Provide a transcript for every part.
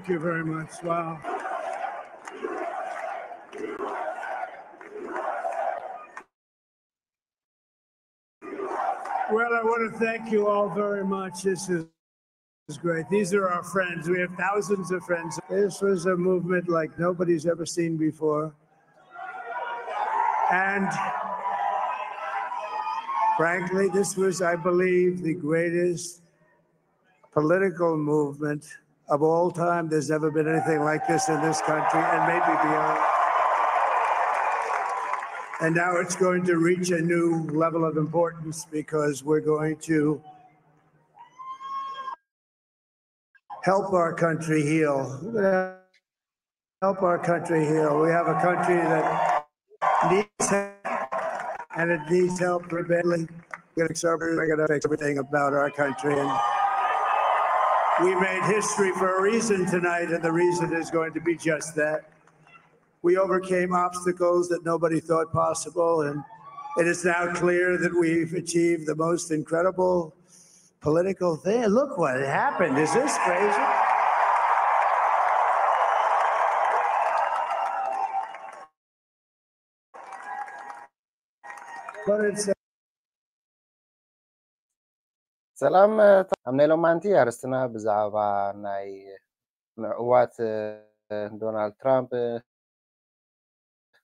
you very much. Wow. Well, I want to thank you all very much. This is, is great. These are our friends. We have thousands of friends. This was a movement like nobody's ever seen before. And frankly, this was, I believe, the greatest political movement of all time. There's never been anything like this in this country and maybe beyond. And now it's going to reach a new level of importance because we're going to help our country heal. We're gonna help our country heal. We have a country that needs help, and it needs help very badly. We're going to fix everything about our country. And we made history for a reason tonight, and the reason is going to be just that. We overcame obstacles that nobody thought possible, and it is now clear that we've achieved the most incredible political thing. Look what happened. Is this crazy? But it's ሰላም። ኣብ ናይ ሎማንቲ ኣርስትና ብዛዕባ ናይ ምዕዋት ዶናልድ ትራምፕ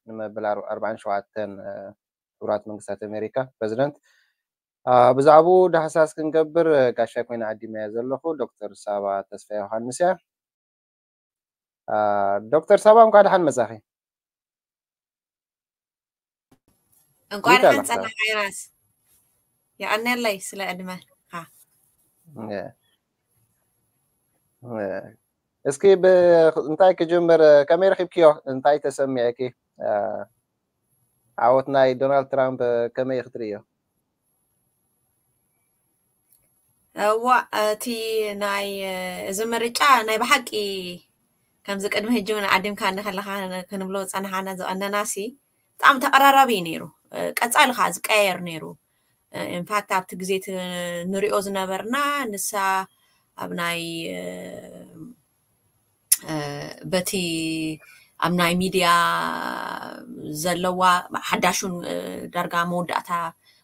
ንመበል ኣርባዓን ሸውዓተን ሕቡራት መንግስታት ኣሜሪካ ፕረዚደንት ብዛዕባኡ ዳህሳስ ክንገብር ጋሻ ኮይና ዓዲመያ ዘለኹ ዶክተር ሳባ ተስፋ ዮሃንስ እያ። ዶክተር ሳባ እንኳዕ ደሓን መጻኺ። እንኳዕ ደሓን ጸናሕካ ዮናስ። የቐንየለይ ስለ ዕድመኻ። እስኪ እንታይ ክጅምር፣ ከመይ ረኺብክዮ? እንታይ ተሰሚዕኪ? ዓወት ናይ ዶናልድ ትራምፕ ከመይ ክትርእዮ? እዋ እቲ ናይ እዚ ምርጫ ናይ ብሓቂ ከምዚ ቅድሚ ሕጂ እውን ዓዲምካ እንከለካ ክንብሎ ዝፀናሓና ዝቐነናሲ ብጣዕሚ ተቐራራቢ እዩ ነይሩ። ቀፃሊ ከዓ ዝቀያየር ነይሩ። ኢንፋክት ኣብቲ ግዜ ንሪኦ ዝነበርና ንሳ ኣብ ናይ በቲ ኣብ ናይ ሚድያ ዘለዋ ሓዳሹን ዳርጋ መወዳእታ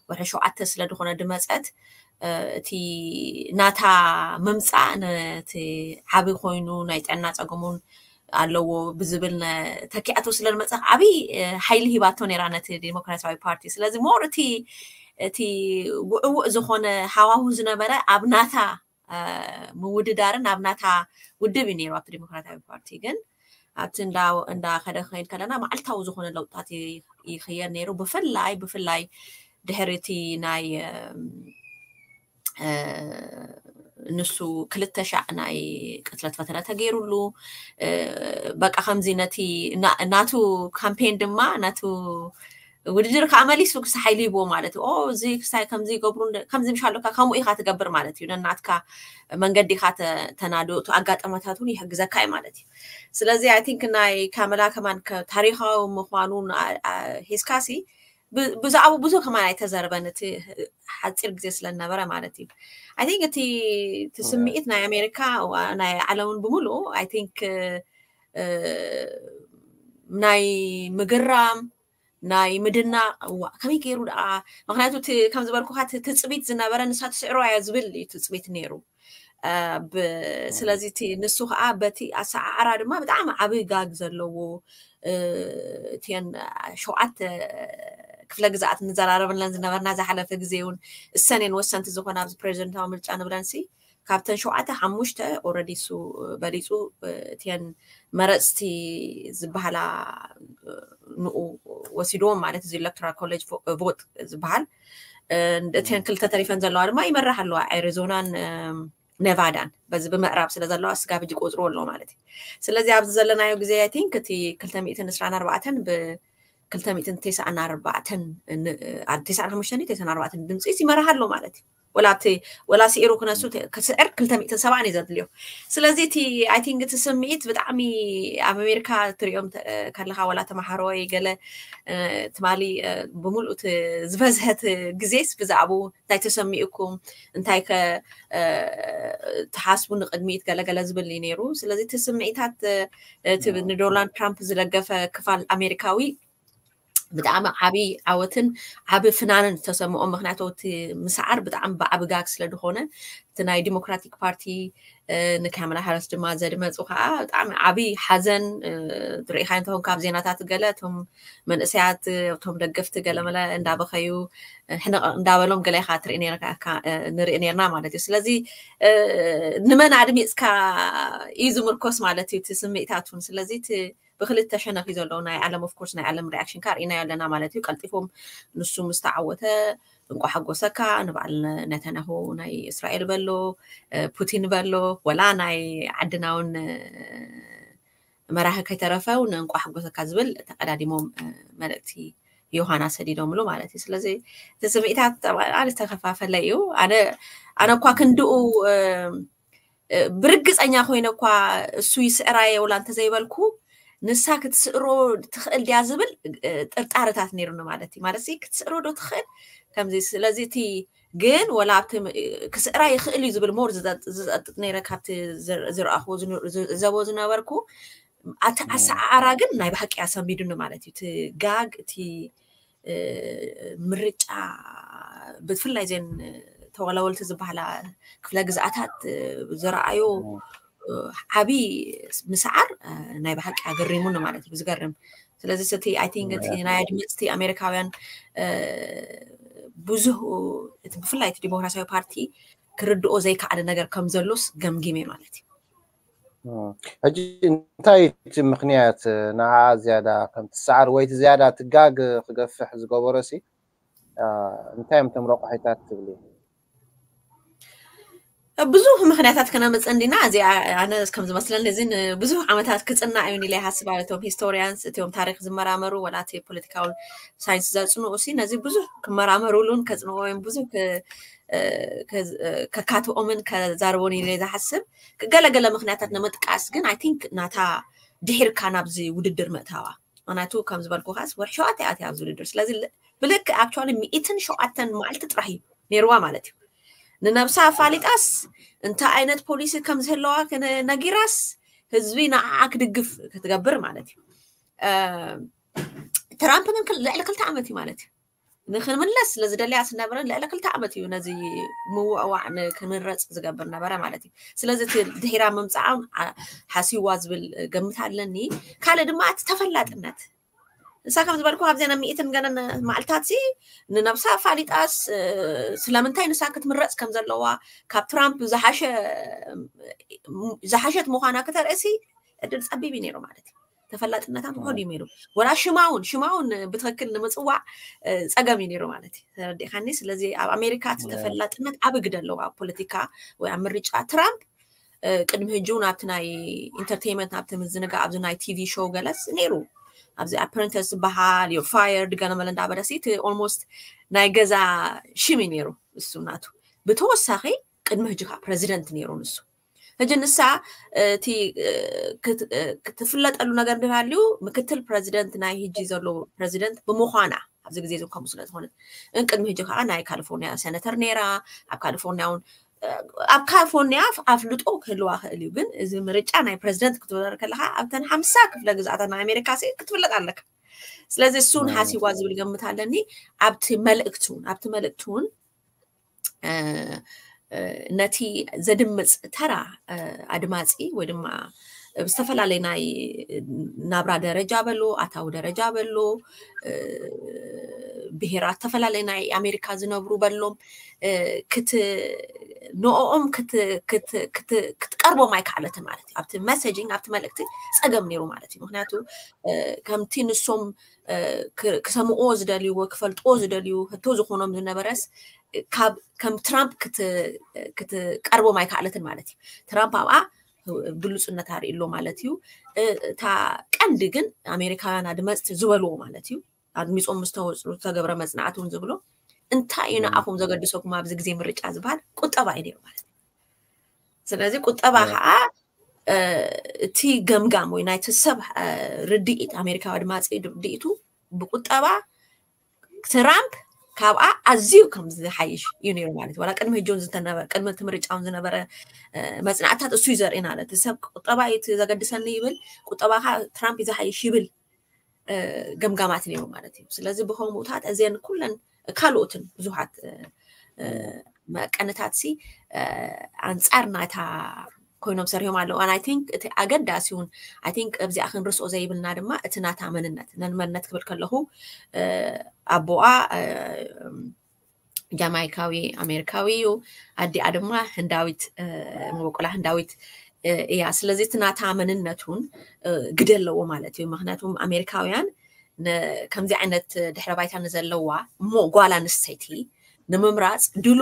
ወርሒ ሸውዓተ ስለ ዝኾነ ድመፀት እቲ ናታ ምምፃእ ነቲ ዓቢ ኮይኑ ናይ ጥዕና ፀገሙን ኣለዎ ብዝብል ተኪኣቶ ስለ ድመፀ ዓብይ ሓይሊ ሂባቶ ነይራ ነቲ ዲሞክራሲያዊ ፓርቲ። ስለዚ ሞር እቲ እቲ ውዕውዕ ዝኾነ ሃዋሁ ዝነበረ ኣብ ናታ ምውድዳርን ኣብ ናታ ውድብ እዩ ነይሩ ኣብቲ ዲሞክራሲያዊ ፓርቲ። ግን ኣብቲ እንዳኸደ ክኸይድ ከለና መዓልታዊ ዝኾነ ለውጥታት ይኽየድ ነይሩ። ብፍላይ ብፍላይ ድሕሪ እቲ ናይ ንሱ ክልተ ሻዕ ናይ ቅትለት ፈተነ ተገይሩሉ በቃ ከምዚ ነቲ ናቱ ካምፔን ድማ ናቱ ውድድር ከዓ መሊሱ ክሳ ሓይሊ ይብዎ ማለት እዩ። እዚ ክሳይ ከምዚ ይገብሩ ከምዚ ምሽ ኣለካ ከምኡ ኢካ ትገብር ማለት እዩ። ነናትካ መንገዲ ኢካ ተናዶ እቲ ኣጋጠመታት እውን ይሕግዘካ እዩ ማለት እዩ። ስለዚ ኣይ ቲንክ ናይ ካመላ ከማን ታሪካዊ ምኳኑ ሂዝካሲ ብዛዕባኡ ብዙ ከማን ኣይተዘረበን እቲ ሓፂር ግዜ ስለዝነበረ ማለት እዩ። ኣይ ቲንክ እቲ ስምዒት ናይ ኣሜሪካ ናይ ዓለምን ብምሉኡ ኣይ ቲንክ ናይ ምግራም ናይ ምድናቕ እዋ ከመይ ገይሩ ደኣ ምክንያቱ ከም ዝበልኩካ ትፅቢት ዝነበረ ንሳ ትስዕሮ እያ ዝብል እዩ ትፅቢት ነይሩ። ስለዚ እቲ ንሱ ከዓ በቲ ኣሰዓዕራ ድማ ብጣዕሚ ዓብይ ጋግ ዘለዎ እቲን ሸውዓተ ክፍለ ግዛኣት ንዘራረብለን ዝነበርና ዝሓለፈ ግዜ እውን እሰን እየን ወሰንቲ ዝኾና ኣብዚ ፕሬዚደንታዊ ምርጫ ንብለን ሲ ካብተን ሸውዓተ ሓሙሽተ ኦረዲ እሱ በሊፁ እቲን መረፅቲ ዝበሃላ ንኡ ወሲድዎም ማለት እዚ ኤሌክቶራል ኮሌጅ ቮት ዝበሃል እቲን ክልተ ተሪፈን ዘለዋ ድማ ይመራሕ ኣለዋ ኣሪዞናን ኔቫዳን በዚ ብምዕራብ ስለ ዘለዋ ስጋብ ሕጂ ቆፅሩ ኣሎ ማለት እዩ። ስለዚ ኣብዚ ዘለናዮ ግዜ ኣይ ቲንክ እቲ ክልተ ሚእትን ዕስራን ኣርባዕተን ብ ክልተ ሚእትን ተስዓን ኣርባዕተን ተስዓን ሓሙሽተን ተስዓን ኣርባዕተን ድምፂ ይመርሕ ኣሎ ማለት እዩ። ወላ ኣብቲ ወላ ስዒሩ ክነሱ ክስዕር ክልተ ሚእትን ሰብዓን እዩ ዘድልዮ። ስለዚ እቲ I think እቲ ስምዒት ብጣዕሚ ኣብ ኣሜሪካ ትሪኦም ከለካ ወላ ተማሃሮ ወይ ገለ ትማሊ ብምሉእ ዝበዝሐት ግዜስ ብዛዕባኡ እንታይ ተሰሚኡኩም እንታይ ከ ትሓስቡ ንቅድሚት ገለገለ ዝብል እዩ ነይሩ። ስለዚ እቲ ስምዒታት ንዶናልድ ትራምፕ ዝደገፈ ክፋል ኣሜሪካዊ ብጣዕሚ ዓብዪ ዓወትን ዓቢ ፍናንን ዝተሰምዖ። ምክንያቱ እቲ ምስዓር ብጣዕሚ ብዓቢ ጋግ ስለ ዝኾነ እቲ ናይ ዲሞክራቲክ ፓርቲ ንካማላ ሃሪስ ድማ ዘድመፁ ከዓ ብጣዕሚ ዓቢ ሓዘን ትርኢካ እንተኾን ካብ ዜናታት ገለ እቶም መንእሰያት እቶም ደገፍቲ ገለመለ እንዳበኸዩ ሕነቕ እንዳበሎም ገለ ኢኻ ትርኢ ንርኢ ነርና ማለት እዩ። ስለዚ ንመን ኣድሚፅካ እዩ ዝምርኮስ ማለት እዩ እቲ ስምዒታት እውን። ስለዚ ብክልተ ሸነኽ እዩ ዘለዉ ናይ ዓለም of course ናይ ዓለም reaction ካ ርኢናዮ ኣለና ማለት እዩ። ቀልጢፎም ንሱ ምስ ተዓወተ እንቋ ሓጎሰካ ንበዓል ነተንያሁ ናይ እስራኤል በሎ ፑቲን በሎ ወላ ናይ ዓድና እውን መራሒ ከይተረፈ እውን እንቋ ሓጎሰካ ዝብል ተቀዳዲሞም መልእክቲ ዮሃና ሰዲዶምሉ ማለት እዩ። ስለዚ እቲ ስምዒታት ዝተከፋፈለ እዩ። ኣነ ኣነ እኳ ክንድኡ ብርግፀኛ ኮይነ እኳ እሱ ይስዕራ የውላ እንተዘይበልኩ ንሳ ክትስዕሮ ትኽእል ድያ ዝብል ጥርጣረታት ነይሩኒ ማለት እዩ። ማለት ክትስዕሮ ዶ ትኽእል ከምዚ። ስለዚ እቲ ግን ወላ ኣብቲ ክስዕራ ይኽእል እዩ ዝብል ሞር ዝጠጥጥ ነይረ ካብቲ ዝረኣኹ ዘቦ ዝነበርኩ ኣቲ ኣሰዓዓራ ግን ናይ ብሓቂ ኣሰንቢዱኒ ማለት እዩ። እቲ ጋግ እቲ ምርጫ ብፍላይ ዘን ተወላወልቲ ዝበሃላ ክፍለ ግዝኣታት ዝረኣዮ ዓቢ ምስዓር ናይ ብሓቂ ኣገሪሙኒ ማለት እዩ። ዝገርም ስለዚ እቲ I think እቲ ናይ ኣድመፅቲ ኣሜሪካውያን ብዙህ ብፍላይ እቲ ዲሞክራሲያዊ ፓርቲ ክርድኦ ዘይከኣለ ነገር ከም ዘሎስ ገምጊመ ማለት እዩ። ሕጂ እንታይ እቲ ምክንያት ንዓ ዝያዳ ከም ትሰዓር ወይ እቲ ዝያዳ ትጋግ ክገፍሕ ዝገበሮ ሲ እንታይ እዮም እቶም ረቋሒታት ትብሊ? ብዙሕ ምክንያታት ከነምፅእ እንዲና። እዚ ኣነ ከም ዝመስለኒ እዚ ንብዙሕ ዓመታት ክፅናዕ እዩ ኢለ ይሓስብ። እቶም ሂስቶሪያንስ እቲኦም ታሪክ ዝመራመሩ ወላ እቲ ፖለቲካዊ ሳይንስ ዘፅንኡ ሲ ነዚ ብዙሕ ክመራመሩሉን ከፅንዎ ወይም ብዙሕ ከካትኦምን ከዛርቦን ኢለ ዝሓስብ። ገለገለ ምክንያታት ንምጥቃስ ግን I think ናታ ድሒርካ ናብዚ ውድድር ምእታዋ ምክንያቱ ከም ዝበልኩ ከዓስ ወርሒ ሸውዓተ እያ ኣብዚ ውድድር። ስለዚ ብልክ actually ሚእትን ሸውዓተን መዓልቲ ጥራሕ እዩ ነይርዋ ማለት እዩ። ንነብሳ ኣፋሊጣስ እንታይ ዓይነት ፖሊሲ ከም ዝህለዋ ነጊራስ ህዝቢ ንዓዓ ክድግፍ ክትገብር ማለት እዩ። ትራምፕ ግን ልዕሊ ክልተ ዓመት እዩ ማለት እዩ ንክንምለስ ስለ ዝደለያ ዝነበረ ልዕሊ ክልተ ዓመት እዩ ነዚ ምውዕዋዕ ንክንረፅ ዝገብር ነበረ ማለት እዩ። ስለዚ ድሒራ ምምፃዓም ሓሲዋ ዝብል ገምት ኣለኒ። ካልእ ድማ እቲ ተፈላጥነት ንሳ ከም ዝበልኩ ካብዚ ናብ ሚእትን ገለን መዓልታት ሲ ንነብሳ ኣፋሊጣስ ስለምንታይ ንሳ ክትምረፅ ከም ዘለዋ ካብ ትራምፕ ዝሓሸት ምዃና ክተርእሲ ዕድል ፀቢብ እዩ ነይሩ ማለት እዩ። ተፈላጥነታ ምኾን እዩ ነይሩ ወላ ሽማ እውን ሽማ እውን ብትክክል ንምፅዋዕ ፀገም እዩ ነይሩ ማለት እዩ። ተረዲእካኒ? ስለዚ ኣብ ኣሜሪካ እቲ ተፈላጥነት ዓቢ ግደ ኣለዎ ኣብ ፖለቲካ ወይ ኣብ ምርጫ። ትራምፕ ቅድሚ ሕጂ እውን ኣብቲ ናይ ኢንተርቴይንመንት ናብቲ ምዝንጋ ኣብዚ ናይ ቲቪ ሾው ገለስ ነይሩ ኣብዚ ኣፕረንተስ ዝበሃል ዮ ፋየርድ ገለመለ እንዳበለሲ እቲ almost ናይ ገዛ ሽም እዩ ነይሩ እሱ ናቱ። ብተወሳኺ ቅድሚ ሕጂ ከዓ ፕረዚደንት ነይሩ ንሱ። ሕጂ ንሳ እቲ ክትፍለጠሉ ነገር እንድሃልዩ ምክትል ፕረዚደንት ናይ ሕጂ ዘሎ ፕረዚደንት ብምዃና ኣብዚ ግዜ እዚ ከምኡ ስለ ዝኾነት ቅድሚ ሕጂ ከዓ ናይ ካሊፎርኒያ ሴነተር ነይራ። ኣብ ካሊፎርኒያ እውን ኣብ ካሊፎርኒያ ኣፍልጦ ክህልዋ ክእል እዩ። ግን እዚ ምርጫ ናይ ፕረዚደንት ክትወዳደር ከለካ ኣብተን ሓምሳ ክፍለ ግዝኣታት ናይ ኣሜሪካ ክትፍለጥ ኣለካ። ስለዚ እሱን ሓሲዋ ዝብል ገምት ኣለኒ። ኣብቲ መልእክቲ እውን ኣብቲ መልእክቲ እውን ነቲ ዘድምፅ ተራ ኣድማፂ ወይ ድማ ብዝተፈላለዩ ናይ ናብራ ደረጃ በሎ ኣታዊ ደረጃ በሎ ብሄራት ዝተፈላለየ ናይ ኣሜሪካ ዝነብሩ በሎም ክት ንኦም ክትቀርቦም ኣይከኣለትን ማለት እዩ። ኣብቲ መሰጂንግ ኣብቲ መልእክቲ ፀገም ነይሩ ማለት እዩ። ምክንያቱ ከምቲ ንሶም ክሰምዕዎ ዝደልይዎ ክፈልጥዎ ዝደልዩ ህቶ ዝኾኖም ዝነበረስ ካብ ከም ትራምፕ ክትቀርቦም ኣይከኣለትን ማለት እዩ። ትራምፕ ኣብኣ ግሉፅነት ኣርእሎ ማለት እዩ። እታ ቀንዲ ግን ኣሜሪካውያን ኣድመፅቲ ዝበልዎ ማለት እዩ ኣድሚፆም ምስተወፅሉ ዝተገብረ መፅናዕቲ እውን ዝብሎ እንታይ እዩ ንኣኹም ዘገድሰኩም ኣብዚ ግዜ ምርጫ ዝበሃል ቁጠባ እዩ ነይሩ ማለት እዩ። ስለዚ ቁጠባ ከዓ እቲ ገምጋም ወይ ናይቲ ሰብ ርድኢት፣ ኣሜሪካዊ ኣድማፂ ርድኢቱ ብቁጠባ ትራምፕ ካብኣ ኣዝዩ ከም ዝሓይሽ እዩ ነይሩ ማለት እዩ። ዋላ ቅድሚ ሕጂ እውን ዝተነበረ፣ ቅድሚ እቲ ምርጫ እውን ዝነበረ መፅናዕትታት እሱ እዩ ዘርእና። እቲ ሰብ ቁጠባ እዩ ዘገድሰኒ ይብል፣ ቁጠባ ከዓ ትራምፕ እዩ ዝሓይሽ ይብል ገምጋማት ነይሩ ማለት እዩ። ስለዚ ብከምኡታት እዚአን ኩለን ካልኦትን ብዙሓት መቀንታት ሲ ኣንፃር ናታ ኮይኖም ሰሪሖም ኣለዉ። And I think እቲ ኣገዳሲ እውን፣ I think ኣብዚኣ ክንርስኦ ዘይብልና ድማ እቲ ናታ መንነት፣ ነን መንነት ክብል ከለኹ ኣቦኣ ጃማይካዊ ኣሜሪካዊ እዩ። ኣዲኣ ድማ ህንዳዊት፣ መበቆላ ህንዳዊት እያ። ስለዚ እቲ ናታ መንነት እውን ግደ ኣለዎ ማለት እዩ። ምክንያቱም ኣሜሪካውያን ከምዚ ዓይነት ድሕረ ባይታ ንዘለዋ እሞ ጓል ኣንስተይቲ ንምምራፅ ድሉ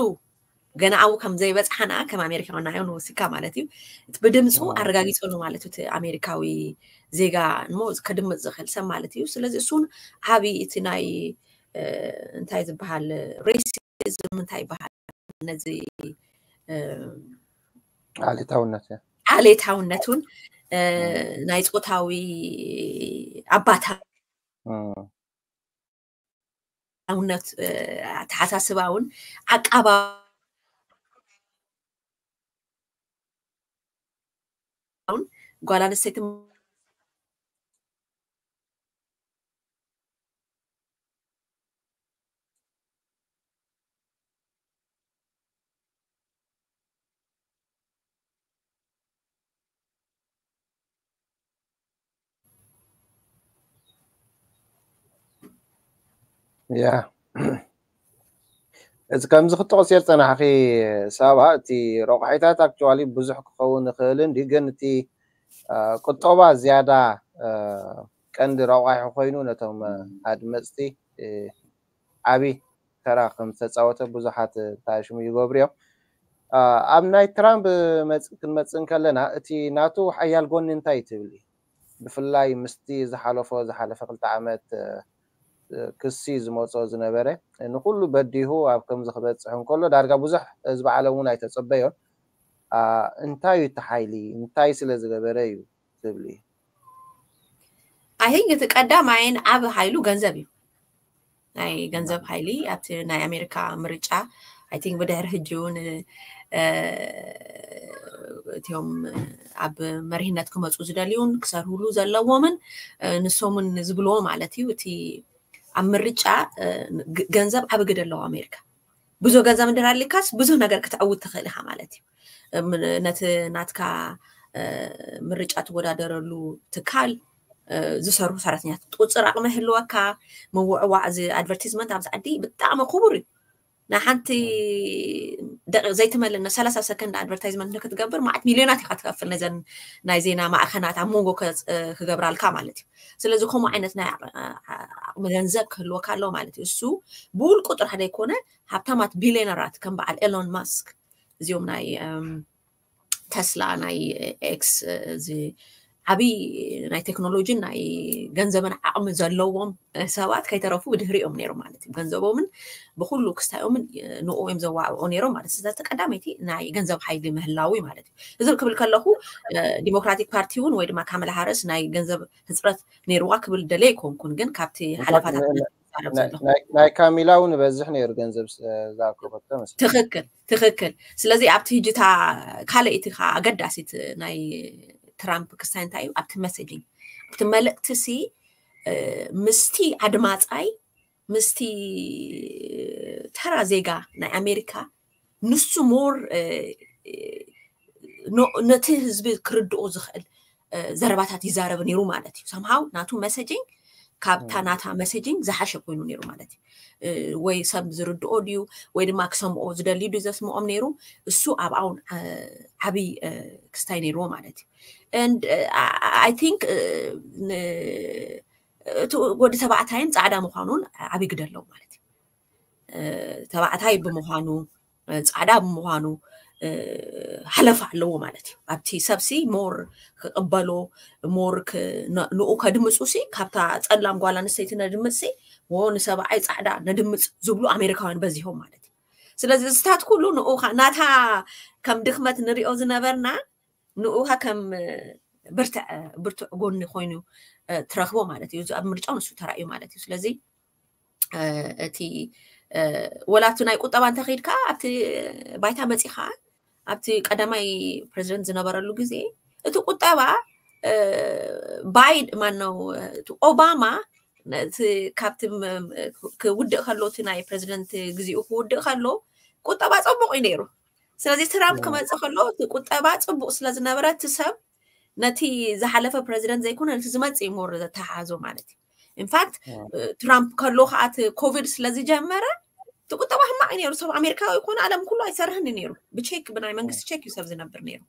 ገና ኣብኡ ከም ዘይበፅሓና ከም ኣሜሪካውያን ንዓዮም ንወሲካ ማለት እዩ። ብድምፁ ኣረጋጊፀሉ ማለት እዩ። እቲ ኣሜሪካዊ ዜጋ እሞ ከድምፅ ዝኽእል ሰብ ማለት እዩ። ስለዚ እሱን ዓብዪ እቲ ናይ እንታይ ዝበሃል ሬሲዝም እንታይ ይበሃል ነዚ ዓሌታውነት ዓሌታውነቱን ናይ ፆታዊ ኣባታውነት ኣተሓሳስባውን ዓቃባውን ጓል ኣንስተይቲ ያ እዚ ከምዚ ክትጠቕስዮ ዝጸናሕኺ ሳባ፣ እቲ ረቑሒታት ኣክቹዋሊ ብዙሕ ክኸውን ይኽእል እንዲ፣ ግን እቲ ቁጠባ ዝያዳ ቀንዲ ረቋሒ ኮይኑ ነቶም ኣድመፅቲ ዓቢ ተራ ከም ዝተፃወተ ብዙሓት ታሽሙ ይገብሩ እዮም። ኣብ ናይ ትራምፕ ክንመፅእ እንከለና እቲ ናቱ ሓያል ጎኒ እንታይ ትብሊ? ብፍላይ ምስቲ ዝሓለፎ ዝሓለፈ ክልተ ዓመት ክሲ ዝመፆ ዝነበረ ንኩሉ በዲሁ ኣብ ከምዚ ክበፅሕ እንከሎ ዳርጋ ብዙሕ ህዝቢ ዓለም እውን ኣይተፀበዮን። እንታይ እዩ እቲ ሓይሊ? እንታይ ስለ ዝገበረ እዩ ትብሊ? I think እቲ ቀዳማይን ዓቢ ሓይሉ ገንዘብ እዩ። ናይ ገንዘብ ሓይሊ ኣብቲ ናይ ኣሜሪካ ምርጫ I think ብድሕሪ ሕጂ እውን እቲኦም ኣብ መሪህነት ክመፁ ዝደልዩን ክሰርህሉ ዘለዎምን ንሶምን ዝብልዎ ማለት እዩ። እቲ ኣብ ምርጫ ገንዘብ ዓቢ ግደ ኣለዎ ኣሜሪካ። ብዙሕ ገንዘብ እንድሕር ኣሊካስ ብዙሕ ነገር ክትዕውት ትኽእል ኢኻ ማለት እዩ። ነቲ ናትካ ምርጫ ትወዳደረሉ ትካል ዝሰርሑ ሰራሕተኛታት ቁፅር ኣቕሚ ህልወካ ምውዕዋዕ እዚ ኣድቨርቲዝመንት ኣብዚ ዓዲ ብጣዕሚ ክቡር እዩ። ንሓንቲ ዘይትመልእ ሰላሳ ሰከንድ ኣድቨርታይዝመንት ንክትገብር ማዕት ሚልዮናት ኢካ ትከፍል ነዘን ናይ ዜና ማዕኸናት ኣብ መንጎ ክገብራልካ ማለት እዩ። ስለዚ ከምኡ ዓይነት ናይ ዓቕሚ ገንዘብ ክህልወካ ኣለዎ ማለት እዩ። እሱ ብውልቁ ጥራሕ ዘይኮነ ሃብታማት ቢልዮነራት ከም በዓል ኤሎን ማስክ እዚኦም ናይ ተስላ ናይ ኤክስ እዚ ዓብይ ናይ ቴክኖሎጂን ናይ ገንዘብን ዓቕሚ ዘለዎም ሰባት ከይተረፉ ብድህሪኦም ነይሮም ማለት እዩ። ገንዘቦምን ብኩሉ ክስታዮምን ንኡ እዮም ዘዋዕኦ ነይሮም ማለት እዩ። ስለዚ ቀዳመይቲ ናይ ገንዘብ ሓይሊ ምህላው እዩ ማለት እዩ። እዚ ክብል ከለኹ ዲሞክራቲክ ፓርቲ እውን ወይ ድማ ካመላ ሃረስ ናይ ገንዘብ ህፅረት ነይርዋ ክብል ደለ ኣይኮንኩን፣ ግን ካብቲ ሓለፋታት ናይ ካሚላ እውን ይበዝሕ ነይሩ ገንዘብ ዝኣከበቶ መስለኒ። ትኽክል ትኽክል። ስለዚ ኣብቲ ህጅታ ካልእ እቲ ከዓ ኣገዳሲት ናይ ትራምፕ ክስታይ እንታይ እዩ ኣብቲ መሴጂንግ ኣብቲ መልእክቲ ሲ ምስቲ ኣድማፃይ ምስቲ ተራ ዜጋ ናይ ኣሜሪካ ንሱ ሞር ነቲ ህዝቢ ክርድኦ ዝኽእል ዘረባታት ይዛረብ ነይሩ ማለት እዩ። ሰምሃው ናቱ መሰጂንግ ካብታ ናታ መሰጂንግ ዝሓሸ ኮይኑ ነይሩ ማለት እዩ። ወይ ሰብ ዝርድኦ ድዩ ወይ ድማ ክሰምኦ ዝደልዩ ድዩ ዘስምኦም ነይሩ። እሱ ኣብኣውን ዓብይ ክስታይ ነይርዎ ማለት እዩ። And I think እቲ ወዲ ተባዕታይን ፃዕዳ ምዃኑን ዓብይ ግደ ኣለዎ ማለት እዩ። ተባዕታይ ብምዃኑ ፃዕዳ ብምዃኑ ሓለፋ ኣለዎ ማለት እዩ። ኣብቲ ሰብሲ ሞር ክቕበሎ ሞር ንኡ ከድምፁ ሲ ካብታ ፀላም ጓል ኣንስተይቲ ነድምፅ ሲ ንሰብኣይ ፃዕዳ ነድምፅ ዝብሉ ኣሜሪካውያን በዚሆም ማለት እዩ። ስለዚ እዚታት ኩሉ ንኡ ናታ ከም ድኽመት ንሪኦ ዝነበርና ንኡ ከም ብርትዕ ብርትዕ ጎኒ ኮይኑ ትረኽቦ ማለት እዩ። ኣብ ምርጫው ንሱ ተራእዩ ማለት እዩ። ስለዚ እቲ ወላ ኣብቲ ናይ ቁጠባ እንተኸይድካ ኣብቲ ባይታ መፂኻ ኣብቲ ቀዳማይ ፕሬዚደንት ዝነበረሉ ግዜ እቲ ቁጠባ ባይድ ማነው ኦባማ ካብቲ ክውድእ ከሎ እቲ ናይ ፕሬዚደንት ግዜኡ ክውድእ ከሎ ቁጠባ ፀቡቕ እዩ ነይሩ። ስለዚ ትራምፕ ክመፅእ ከሎ እቲ ቁጠባ ፅቡቕ ስለዝነበረ እቲ ሰብ ነቲ ዝሓለፈ ፕሬዚደንት ዘይኮነ ነቲ ዝመፅእ እዩ ሞር ዘተሓሓዞ ማለት እዩ። ኢንፋክት ትራምፕ ከሎ ከዓ እቲ ኮቪድ ስለዝጀመረ እቲ ቁጠባ ሕማቕ እዩ ነይሩ። ሰብ ኣሜሪካዊ ይኮነ ዓለም ኩሉ ኣይሰርሕን እዩ ነይሩ። ብቼክ ብናይ መንግስቲ ቼክ እዩ ሰብ ዝነብር ነይሩ።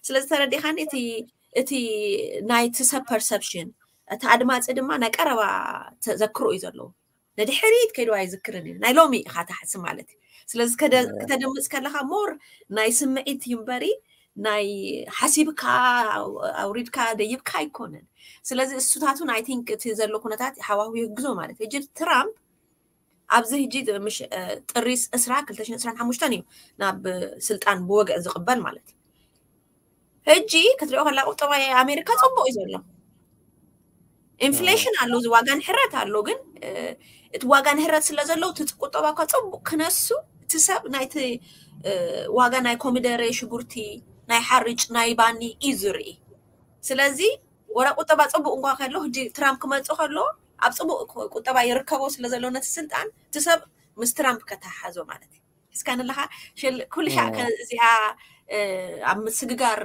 ስለዚ ተረዲኻኒ እቲ እቲ ናይቲ ሰብ ፐርሰፕሽን እቲ ኣድማፂ ድማ ናይ ቀረባ ተዘክሮ እዩ ዘለዎ። ንድሕሪት ከይዱ ኣይዝክርን እዩ። ናይ ሎሚ ኢኻ ትሓስብ ማለት እዩ። ስለዚ ክተድምፅ ከለኻ ሞር ናይ ስምዒት እዩ እምበሪ ናይ ሓሲብካ ኣውሪድካ ደይብካ ኣይኮነን። ስለዚ እሱታቱን ኣይ ቲንክ እቲ ዘሎ ኩነታት ሓዋሁ ይህግዞ ማለት እዩ። ሕጂ ትራምፕ ኣብዚ ሕጂ ጥሪ ዕስራ ክልተ ሽሕን ዕስራን ሓሙሽተን እዩ ናብ ስልጣን ብወግዒ ዝቕበል ማለት እዩ። ሕጂ ክትሪኦ ከላ ቁጠባ ኣሜሪካ ፅቡቅ እዩ ዘሎ። ኢንፍሌሽን ኣሎ፣ እዚ ዋጋ ንሕረት ኣሎ። ግን እቲ ዋጋ ንሕረት ስለ ዘሎ እቲ ቁጠባ እኳ ፅቡቅ ክነሱ እቲ ሰብ ናይቲ ዋጋ ናይ ኮሚደረ፣ ሽጉርቲ፣ ናይ ሓርጭ፣ ናይ ባኒ እዩ ዝርኢ። ስለዚ ወላ ቁጠባ ፅቡቅ እንኳ ከሎ ሕጂ ትራምፕ ክመፅእ ከሎ ኣብ ፅቡቅ ቁጠባ ይርከቦ ስለ ዘሎ ነቲ ስልጣን እቲ ሰብ ምስ ትራምፕ ከተሓሓዞ ማለት እዩ። እስካ ንለካ ኩሉ ሻዕ እዚኣ ኣብ ምስግጋር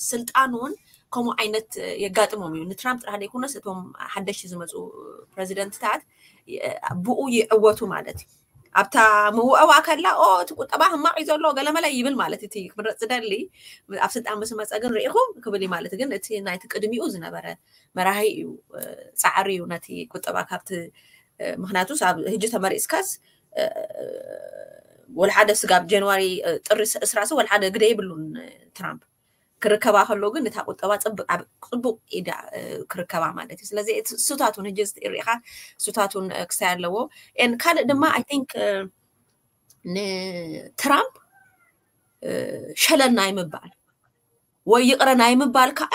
ስልጣን እውን ከምኡ ዓይነት የጋጥሞም እዩ። ንትራምፕ ጥራሕ ዘይኮነስ እቶም ሓደሽቲ ዝመፁ ፕሬዚደንትታት ብኡ ይዕወቱ ማለት እዩ። ኣብታ ምውዕዋ ከላ ኦ እቲ ቁጠባ ህማቕ እዩ ዘሎ ገለመለ ይብል ማለት እቲ ክምረፅ ዝደሊ ኣብ ስልጣን ምስ መፀ ግን ርኢኹም ክብል እዩ ማለት ግን እቲ ናይቲ ቅድሚኡ ዝነበረ መራሂ እዩ። ፃዕሪ እዩ ነቲ ቁጠባ ካብቲ ምክንያቱ ኣብ ህጂ ተመሪፅካስ ወላ ሓደ ስጋብ ጃንዋሪ ጥሪ ዕስራ ወላ ሓደ ግደ የብሉን ትራምፕ ክርከባ ከሎ ግን እታ ቁጠባ ፅቡቅ ኢዳ ክርከባ ማለት እዩ። ስለዚ እሱታቱን ህጂ ሪኢካ እሱታቱን ክስታይ ኣለዎ። ን ካልእ ድማ ኣይ ቲንክ ንትራምፕ ሸለል ናይ ምባል ወይ ይቕረ ናይ ምባል ከዓ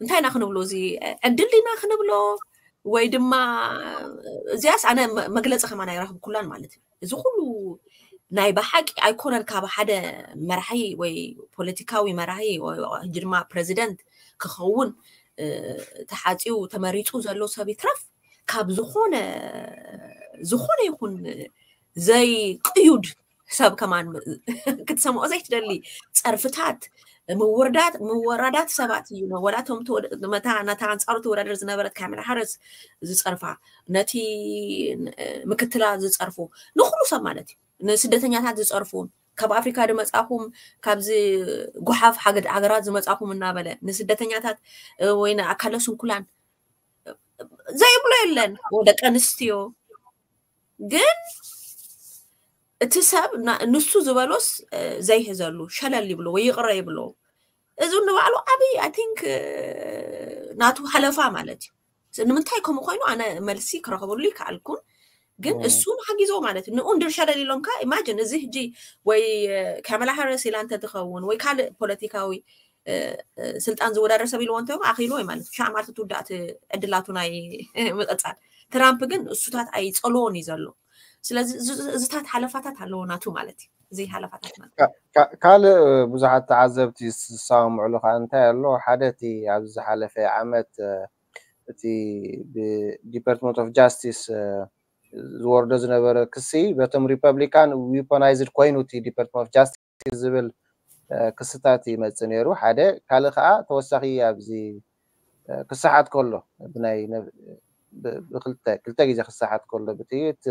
እንታይ ኢና ክንብሎ? እዚ ዕድል ዲና ክንብሎ ወይ ድማ እዚኣስ ኣነ መግለፂ ከማን ኣይረኽብኩላን ማለት እዩ። እዚ ኩሉ ናይ ብሓቂ ኣይኮነን ካብ ሓደ መራሒ ወይ ፖለቲካዊ መራሒ ሕጂ ድማ ፕረዚደንት ክኸውን ተሓፂው ተመሪፁ ዘሎ ሰብ ይትረፍ ካብ ዝኾነ ዝኾነ ይኹን ዘይቅዩድ ሰብ ከማን ክትሰምዖ ዘይትደሊ ፀርፍታት ምውርዳት ምወራዳት ሰባት እዩ። ወላቶም ነታ ነታ ኣንፃሩ ትወዳደር ዝነበረት ካሜላ ሃሪስ ዝፀርፋ ነቲ ምክትላ ዝፀርፉ ንኩሉ ሰብ ማለት እዩ። ንስደተኛታት ዝፀርፉ ካብ ኣፍሪካ ዝመፃኹም ካብዚ ጉሓፍ ሃገራት ዝመፃኹም እናበለ ንስደተኛታት ወይ ንኣካለ ስንኩላን ዘይብሎ የለን። ደቂ ኣንስትዮ ግን እቲ ሰብ ንሱ ዝበሎስ ዘይሕዘሉ ሸለል ይብሎ ወይ ይቕረ ይብሎ። እዚ ንባዕሉ ዓብይ ኣይ ቲንክ ናቱ ሃለፋ ማለት እዩ። ንምንታይ ከምኡ ኮይኑ ኣነ መልሲ ክረኽበሉ ይከኣልኩን ግን እሱ ንሓጊዞ ማለት እዩ። ንኡ እንድር ሸለል ኢሎምካ ኢማጅን እዚ ሕጂ ወይ ካመላ ሃሪስ ኢላ እንተትኸውን ወይ ካልእ ፖለቲካዊ ስልጣን ዝወዳደር ሰብ ኢልዎ እንተ ኣኺልዎ ማለት ሻዕ ማለት ትውዳእቲ ዕድላቱ ናይ ምቕፃል ትራምፕ ግን እሱታት ኣይፀልዎን እዩ ዘሎ። ስለዚ እዚታት ሓለፋታት ኣለዎ ናቱ ማለት እዩ። እዚ ሓለፋታት ማለት ካልእ ብዙሓት ተዓዘብቲ ዝሰማምዕሉ ከዓ እንታይ ኣሎ ሓደ እቲ ኣብዚ ዝሓለፈ ዓመት እቲ ብዲፓርትመንት ኦፍ ጃስቲስ ዝወርዶ ዝነበረ ክሲ በቶም ሪፐብሊካን ዊፖናይዝድ ኮይኑ እቲ ዲፓርትመንት ኦፍ ጃስቲስ ዝብል ክስታት ይመፅእ ነይሩ ሓደ ካልእ ከዓ ተወሳኺ ኣብዚ ክሰሓት ከሎ ብናይ ክልተ ግዜ ክሰሓት ከሎ ብጥይት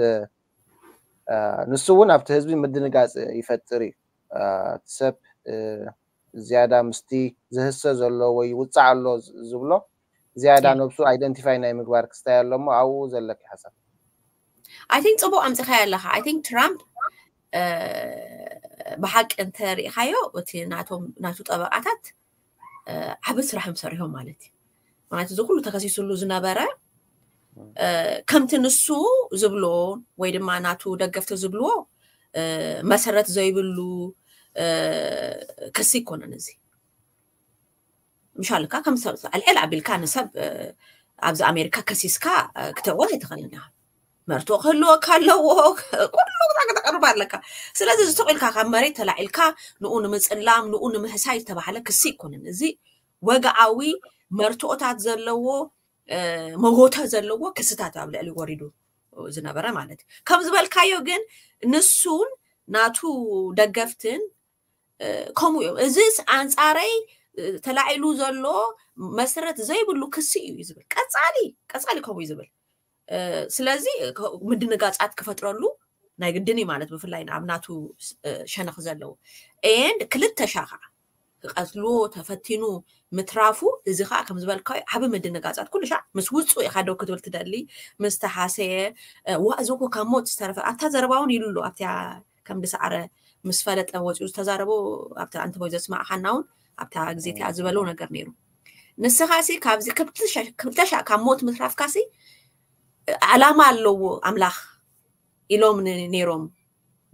ንሱ እውን ኣብቲ ህዝቢ ምድንጋፅ ይፈጥር እዩ። እቲ ሰብ ዝያዳ ምስቲ ዝህሰ ዘሎ ወይ ውፃዕ ኣሎ ዝብሎ ዝያዳ ነብሱ ኣይደንቲፋይ ናይ ምግባር ክስታይ ኣሎ እሞ ኣብኡ ዘለኪ ሓሳብ ኣይ ቲንክ ፅቡቅ ኣምፅኻዮ ኣለካ። ኣይ ቲንክ ትራምፕ ብሓቂ እንተ ርኢኻዮ እቲ ናቶም ናቱ ጠበቃታት ዓቢ ስራሕ እዮም ሰሪሖም ማለት እዩ። ማለት እዚ ኩሉ ተከሲሱሉ ዝነበረ ከምቲ ንሱ ዝብሎ ወይ ድማ ናቱ ደገፍቲ ዝብልዎ መሰረት ዘይብሉ ክሲ ይኮነን እዚ። ምሻልካ ከም ሰብ ኣልዕል ኣቢልካ ንሰብ ኣብዚ ኣሜሪካ ከሲስካ ክተወት ኣይትኽእልን ኢኻ። መርትኦ ክህልወካ ኣለዎ። ኩሉ ክተቅርብ ኣለካ። ስለዚ ዝተቂልካ ካብ መሬት ተላዒልካ ንኡ ንምፅላም ንኡ ንምህሳይ ዝተባሃለ ክሲ ይኮንን። እዚ ወግዓዊ መርትኦታት ዘለዎ መጎተ ዘለዎ ክስታት ኣብ ልዕሊ ወሪዱ ዝነበረ ማለት እዩ። ከም ዝበልካዮ ግን ንሱን ናቱ ደገፍትን ከምኡ እዮም። እዚስ ኣንፃረይ ተላዒሉ ዘሎ መሰረት ዘይብሉ ክሲ እዩ ዝብል። ቀፃሊ ቀፃሊ ከምኡ እዩ ዝብል። ስለዚ ምድንጋፃት ክፈጥረሉ ናይ ግድን እዩ ማለት ብፍላይ ኣብ ናቱ ሸነኽ ዘለዎ ኤንድ ክልተ ሻ ከዓ ክቀትልዎ ተፈቲኑ ምትራፉ እዚ ከዓ ከም ዝበልካዮ ዓቢ ምድንጋፃት ኩሉ ሻ ምስ ውፁ ኢካ ደው ክትብል ትደሊ ምስ ተሓሰየ ዋ እዚ እኮ ካብ ሞት ዝተረፈ ኣብታ ዘረባ እውን ኢሉ ኣሎ ኣብታ ከም ዝሰዓረ ምስ ፈለጠ ወፂኡ ዝተዛረቦ ኣብታ ኣንተ ቦይ ዘስማዕካና እውን ኣብታ ግዜ እቲኣ ዝበለው ነገር ነይሩ። ንስኻ ሲ ካብዚ ክልተ ሻ ካብ ሞት ምትራፍካ ሲ ዕላማ ኣለዎ ኣምላኽ ኢሎም ነይሮም።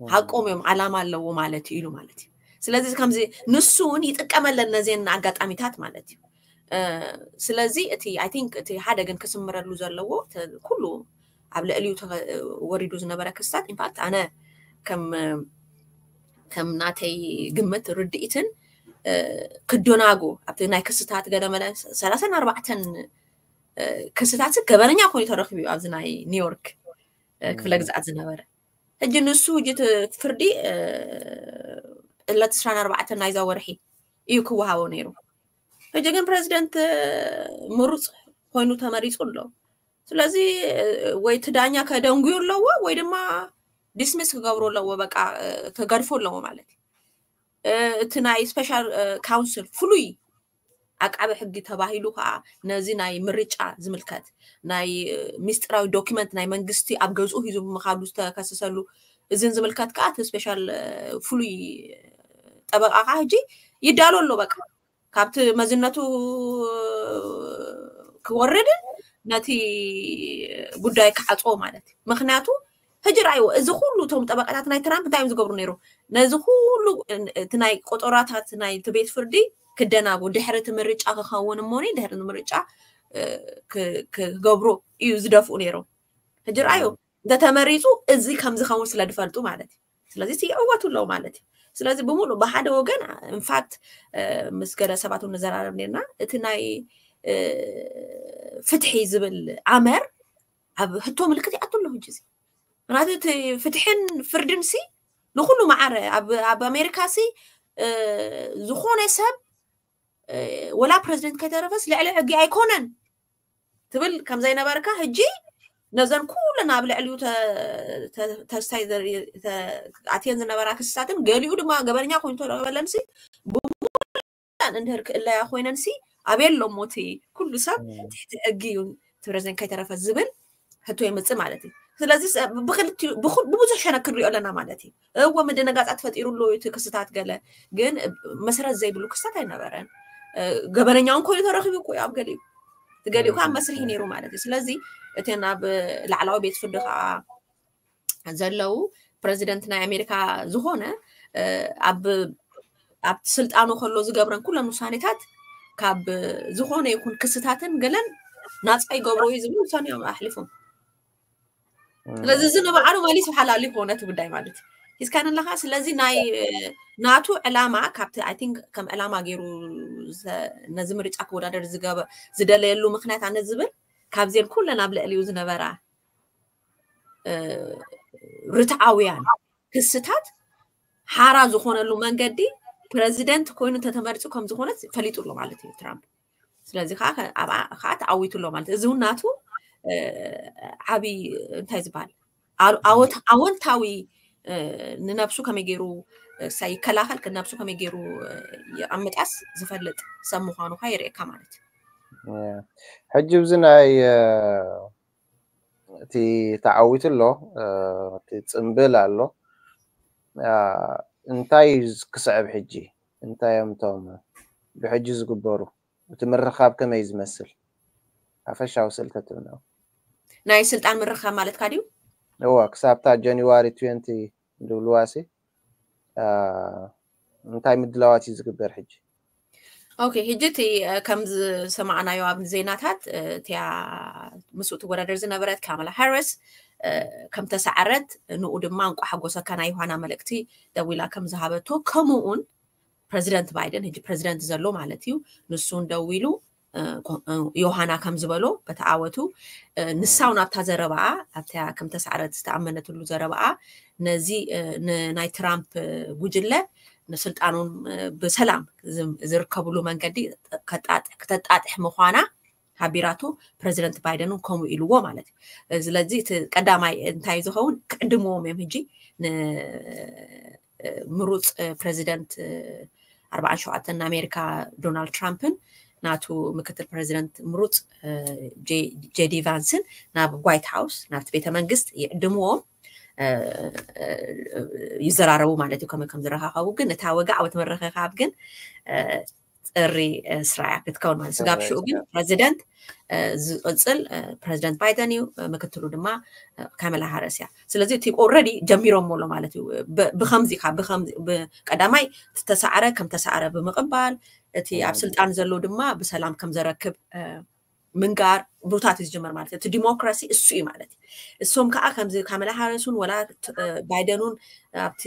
ሓቆም እዮም፣ ዓላማ ኣለዎ ማለት እዩ ኢሉ ማለት እዩ። ስለዚ ከምዚ ንሱ እውን ይጥቀመለን ነዚን ኣጋጣሚታት ማለት እዩ። ስለዚ እቲ I think እቲ ሓደ ግን ክስምረሉ ዘለዎ ኩሉ ኣብ ልዕሊኡ ወሪዱ ዝነበረ ክስታት ኢንፋክት ኣነ ከም ከም ናተይ ግምት ርድኢትን ክደናጎ ኣብቲ ናይ ክስታት ገለመለ ሰላሳን ኣርባዕተን ክስታት ገበነኛ ኮይኑ ተረኪቡ እዩ ኣብዚ ናይ ኒውዮርክ ክፍለ ግዝኣት ዝነበረ። ሕጂ ንሱ ሕጂ ፍርዲ ዕለት ዕስራን ኣርባዕተን ናይዛ ወርሒ እዩ ክወሃቦ ነይሩ። ሕጂ ግን ፕረዚደንት ምሩፅ ኮይኑ ተመሪፁ ኣሎ። ስለዚ ወይ እቲ ዳኛ ከደንጉዩ ኣለዎ ወይ ድማ ዲስሚስ ክገብሩ ኣለዎ፣ በቃ ክገድፎ ኣለዎ ማለት እዩ። እቲ ናይ ስፔሻል ካውንስል ፍሉይ ዓቃቢ ሕጊ ተባሂሉ ከዓ ነዚ ናይ ምርጫ ዝምልከት ናይ ሚስጥራዊ ዶኪመንት ናይ መንግስቲ ኣብ ገዝኡ ሒዙ ብምኻዱ ዝተከሰሰሉ እዝን ዝምልከት ከዓ እቲ ስፔሻል ፍሉይ ጠበቃ ከዓ ሕጂ ይዳሎ ኣሎ። በቃ ካብቲ መዝነቱ ክወርድን ነቲ ጉዳይ ክዓፅዎ ማለት እዩ። ምክንያቱ ሕጂ ርኣይዎ፣ እዚ ኩሉ እቶም ጠበቃታት ናይ ትራምፕ እንታይ እዮም ዝገብሩ ነይሩ? ነዚ ኩሉ እቲ ናይ ቆጠራታት ናይ እቲ ቤት ፍርዲ ክደናጉ ድሕሪ እቲ ምርጫ ክኸውን እሞኒ ድሕሪ ምርጫ ክገብሩ እዩ ዝደፍኡ ነይሮም። ሕጂ ርኣዩ እንተተመሪፁ እዚ ከም ዝኸውን ስለ ዝፈልጡ ማለት እዩ። ስለዚ ይዕወቱ ኣለዉ ማለት እዩ። ስለዚ ብምሉእ ብሓደ ወገን ኢንፋክት ምስ ገለ ሰባት እውን ንዘራረብ ነርና እቲ ናይ ፍትሒ ዝብል ኣመር ኣብ ህቶ ምልክት ይኣቱ ኣሎ ሕጂ እዚ። ምክንያቱ እቲ ፍትሕን ፍርድን ሲ ንኩሉ መዓረ ኣብ ኣሜሪካ ሲ ዝኾነ ሰብ ወላ ፕረዚደንት ከይተረፈስ ልዕሊ ሕጊ ኣይኮነን ትብል ከም ዘይነበርካ ሕጂ ነዘን ኩለን ኣብ ልዕሊኡ ተስታይ ኣትየን ዝነበራ ክስታትን ገሊኡ ድማ ገበነኛ ኮይኑ ተረኸበለን ሲ ብሙሉኣን እንድህር ክእለያ ኮይነን ሲ ኣበየ ኣሎ እሞ እቲ ኩሉ ሰብ ትሕቲ ሕጊ እዩ ፕረዚደንት ከይተረፈ ዝብል ሕቶ የምፅእ ማለት እዩ። ስለዚ ብብዙሕ ሸነክ ክንሪኦ ኣለና ማለት እዩ። እወ ምድንጋፃት ፈጢሩሉ እቲ ክስታት ገለ ግን መሰረት ዘይብሉ ክስታት ኣይነበረን። ገበነኛ እውን ኮይኑ ተረኪቡ እኮ እዩ ኣብ ገሊኡ እቲ ገሊኡ ከዓ መስርሒ ነይሩ ማለት እዩ። ስለዚ እቲ ናብ ላዕላዊ ቤት ፍርዲ ከዓ ዘለዉ ፕረዚደንት ናይ ኣሜሪካ ዝኾነ ኣብ ኣብቲ ስልጣኑ ከሎ ዝገብረን ኩለን ውሳኔታት ካብ ዝኾነ ይኹን ክስታትን ገለን ናፃ ይገብሮ እዩ ዝብል ውሳኔ እዮም ኣሕሊፎም። ስለዚ እዚ ንባዕሉ መሊሱ ሓላሉ ይኮነ እቲ ጉዳይ ማለት እዩ። ሒዝካን ኣለካ። ስለዚ ናይ ናቱ ዕላማ ካብቲ I think ከም ዕላማ ገይሩ ነዚ ምርጫ ክወዳደር ዝደለየሉ ምክንያት ኣነ ዝብል ካብዜን ኩለን ኣብ ልዕሊኡ ዝነበራ ርትዓውያን ክስታት ሓራ ዝኾነሉ መንገዲ ፕረዚደንት ኮይኑ እንተተመሪፁ ከም ዝኾነ ፈሊጡ ኣሎ ማለት እዩ ትራምፕ። ስለዚ ከዓ ተዓዊቱ ኣሎ ማለት እዚ እውን ናቱ ዓብይ እንታይ ዝበሃል ኣወንታዊ ንነብሱ ከመይ ገይሩ ይከላኸል፣ ንነብሱ ከመይ ገይሩ ይቐምጣስ ዝፈልጥ ሰብ ምዃኑ ከዓ የርእየካ ማለት እዩ። ሕጂ ብዚ ናይ እቲ ተዓዊቱ ኣሎ፣ እቲ ፅምብል ኣሎ። እንታይ እዩ ክስዕብ ሕጂ? እንታይ እዮም እቶም ብሕጂ ዝግበሩ? እቲ ምርኻብ ከመይ ዝመስል ሓፈሻዊ ስእልተትብና? ናይ ስልጣን ምርኻብ ማለትካ ድዩ? እዋ ክሳብታ ጃንዋሪ ትዌንቲ ዝብልዋሲ እንታይ ምድላዋት እዩ ዝግበር ሕጂ? ኦኬ፣ ሕጂ እቲ ከም ዝሰማዕናዮ ኣብ ዜናታት እቲያ ምስኡ ትወዳደር ዝነበረት ካማላ ሃሪስ ከም ተሳዕረት፣ ንኡ ድማ እንቋ ሓጎሰካ ናይ ዮሃና መልእክቲ ደዊላ ከም ዝሃበቶ፣ ከምኡውን ፕረዚደንት ባይደን ሕጂ ፕረዚደንት ዘሎ ማለት እዩ፣ ንሱን ደዊሉ ዮሃና ከም ዝበሎ በተኣወቱ ንሳው ናብታ ዘረባኣ ኣብታ ከም ተሳዕረት ዝተኣመነትሉ ዘረባኣ ነዚ ናይ ትራምፕ ጉጅለ ንስልጣኖም ብሰላም ዝርከብሉ መንገዲ ክተጣጥሕ ምዃና ሓቢራቱ። ፕረዚደንት ባይደን ከምኡ ኢልዎ ማለት እዩ። ስለዚ እቲ ቀዳማይ እንታይ ዝኸውን ክዕድምዎም እዮም ሕጂ ምሩፅ ፕረዚደንት ኣርባዓን ሸውዓተን ኣሜሪካ ዶናልድ ትራምፕን ናቱ ምክትል ፕረዚደንት ምሩፅ ጄዲ ቫንስን ናብ ዋይት ሃውስ ናብቲ ቤተ መንግስት ይዕድምዎም ይዘራረቡ ማለት እዩ። ከመይ ከም ዝረኻኸቡ ግን እታ ወግዓዊት ምርኽኻብ ግን ጥሪ ስራያ ክትከውን ማለት ስጋብ ሽኡ ግን ፕረዚደንት ዝቕፅል ፕረዚደንት ባይደን እዩ፣ ምክትሉ ድማ ካመላ ሃረስ እያ። ስለዚ እቲ ኦልሬዲ ጀሚሮሞ ኣሎ ማለት እዩ። ብከምዚ ቀዳማይ ተሳዕረ ከም ተሳዕረ ብምቕባል እቲ ኣብ ስልጣን ዘሎ ድማ ብሰላም ከም ዘረክብ ምንጋር ቡታት እዩ ዝጀመር ማለት እዩ። እቲ ዲሞክራሲ እሱ እዩ ማለት እዩ። እሶም ከዓ ከምዚ ካመላ ሃረሱን ወላ ባይደኑን ኣብቲ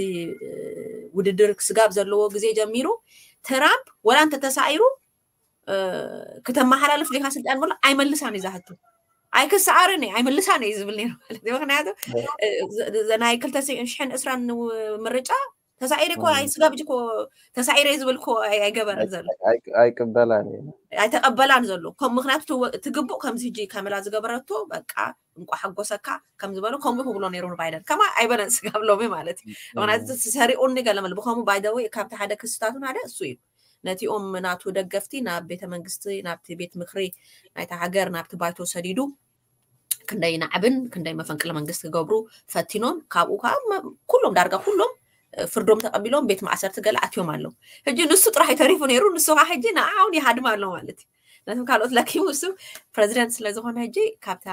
ውድድር ስጋብ ዘለዎ ግዜ ጀሚሩ ትራምፕ ወላ እንተተሳኢሩ ክተመሓላልፍ ዲኻ ስልጣን ብሎ ኣይመልሳን እዩ ዛህቱ ኣይክሰዓርን እየ ኣይመልሳን እየ ዝብል ነይሩ ማለት እዩ። ምክንያቱ ናይ ክልተ ሽሕን ዕስራን ምርጫ ተሳዒረ እኮ ኣይ ስጋብ ሕጂ እኮ ተሳዒረ ዝብል እኮ ኣይገበርን ዘሎ ኣይቅበላን እዩ ኣይተቀበላን ዘሎ ከም ምክንያቱ ትግቡእ ከምዚ ሕጂ ካመላ ዝገበረቶ በቃ እንቋ ሓጎሰካ ከም ዝበሎ ከምኡ ክብሎ ነይሩ ንባይደን ከማ ኣይበለን ስጋብ ሎሚ ማለት እዩ። ምክንያቱ ሰሪቁኒ ገለመል ብከምኡ ባይደወይ ካብቲ ሓደ ክስታቱን ሓደ እሱ እዩ ነቲኦም ናቱ ደገፍቲ ናብ ቤተ መንግስቲ ናብቲ ቤት ምክሪ ናይታ ሃገር ናብቲ ባይቶ ሰዲዱ ክንደይ ናዕብን ክንደይ መፈንቅለ መንግስቲ ክገብሩ ፈቲኖም ካብኡ ከዓ ኩሎም ዳርጋ ኩሎም ፍርዶም ተቀቢሎም ቤት ማእሰርቲ ገለ ኣትዮም ኣለዉ። ሕጂ ንሱ ጥራሕ ተሪፉ ነይሩ ንሱ ከዓ ሕጂ ንዓውን ይሃድም ኣሎ ማለት እዩ። ነቶም ካልኦት ለኪሙ እሱ ፕረዚደንት ስለዝኮነ ሕጂ ካብታ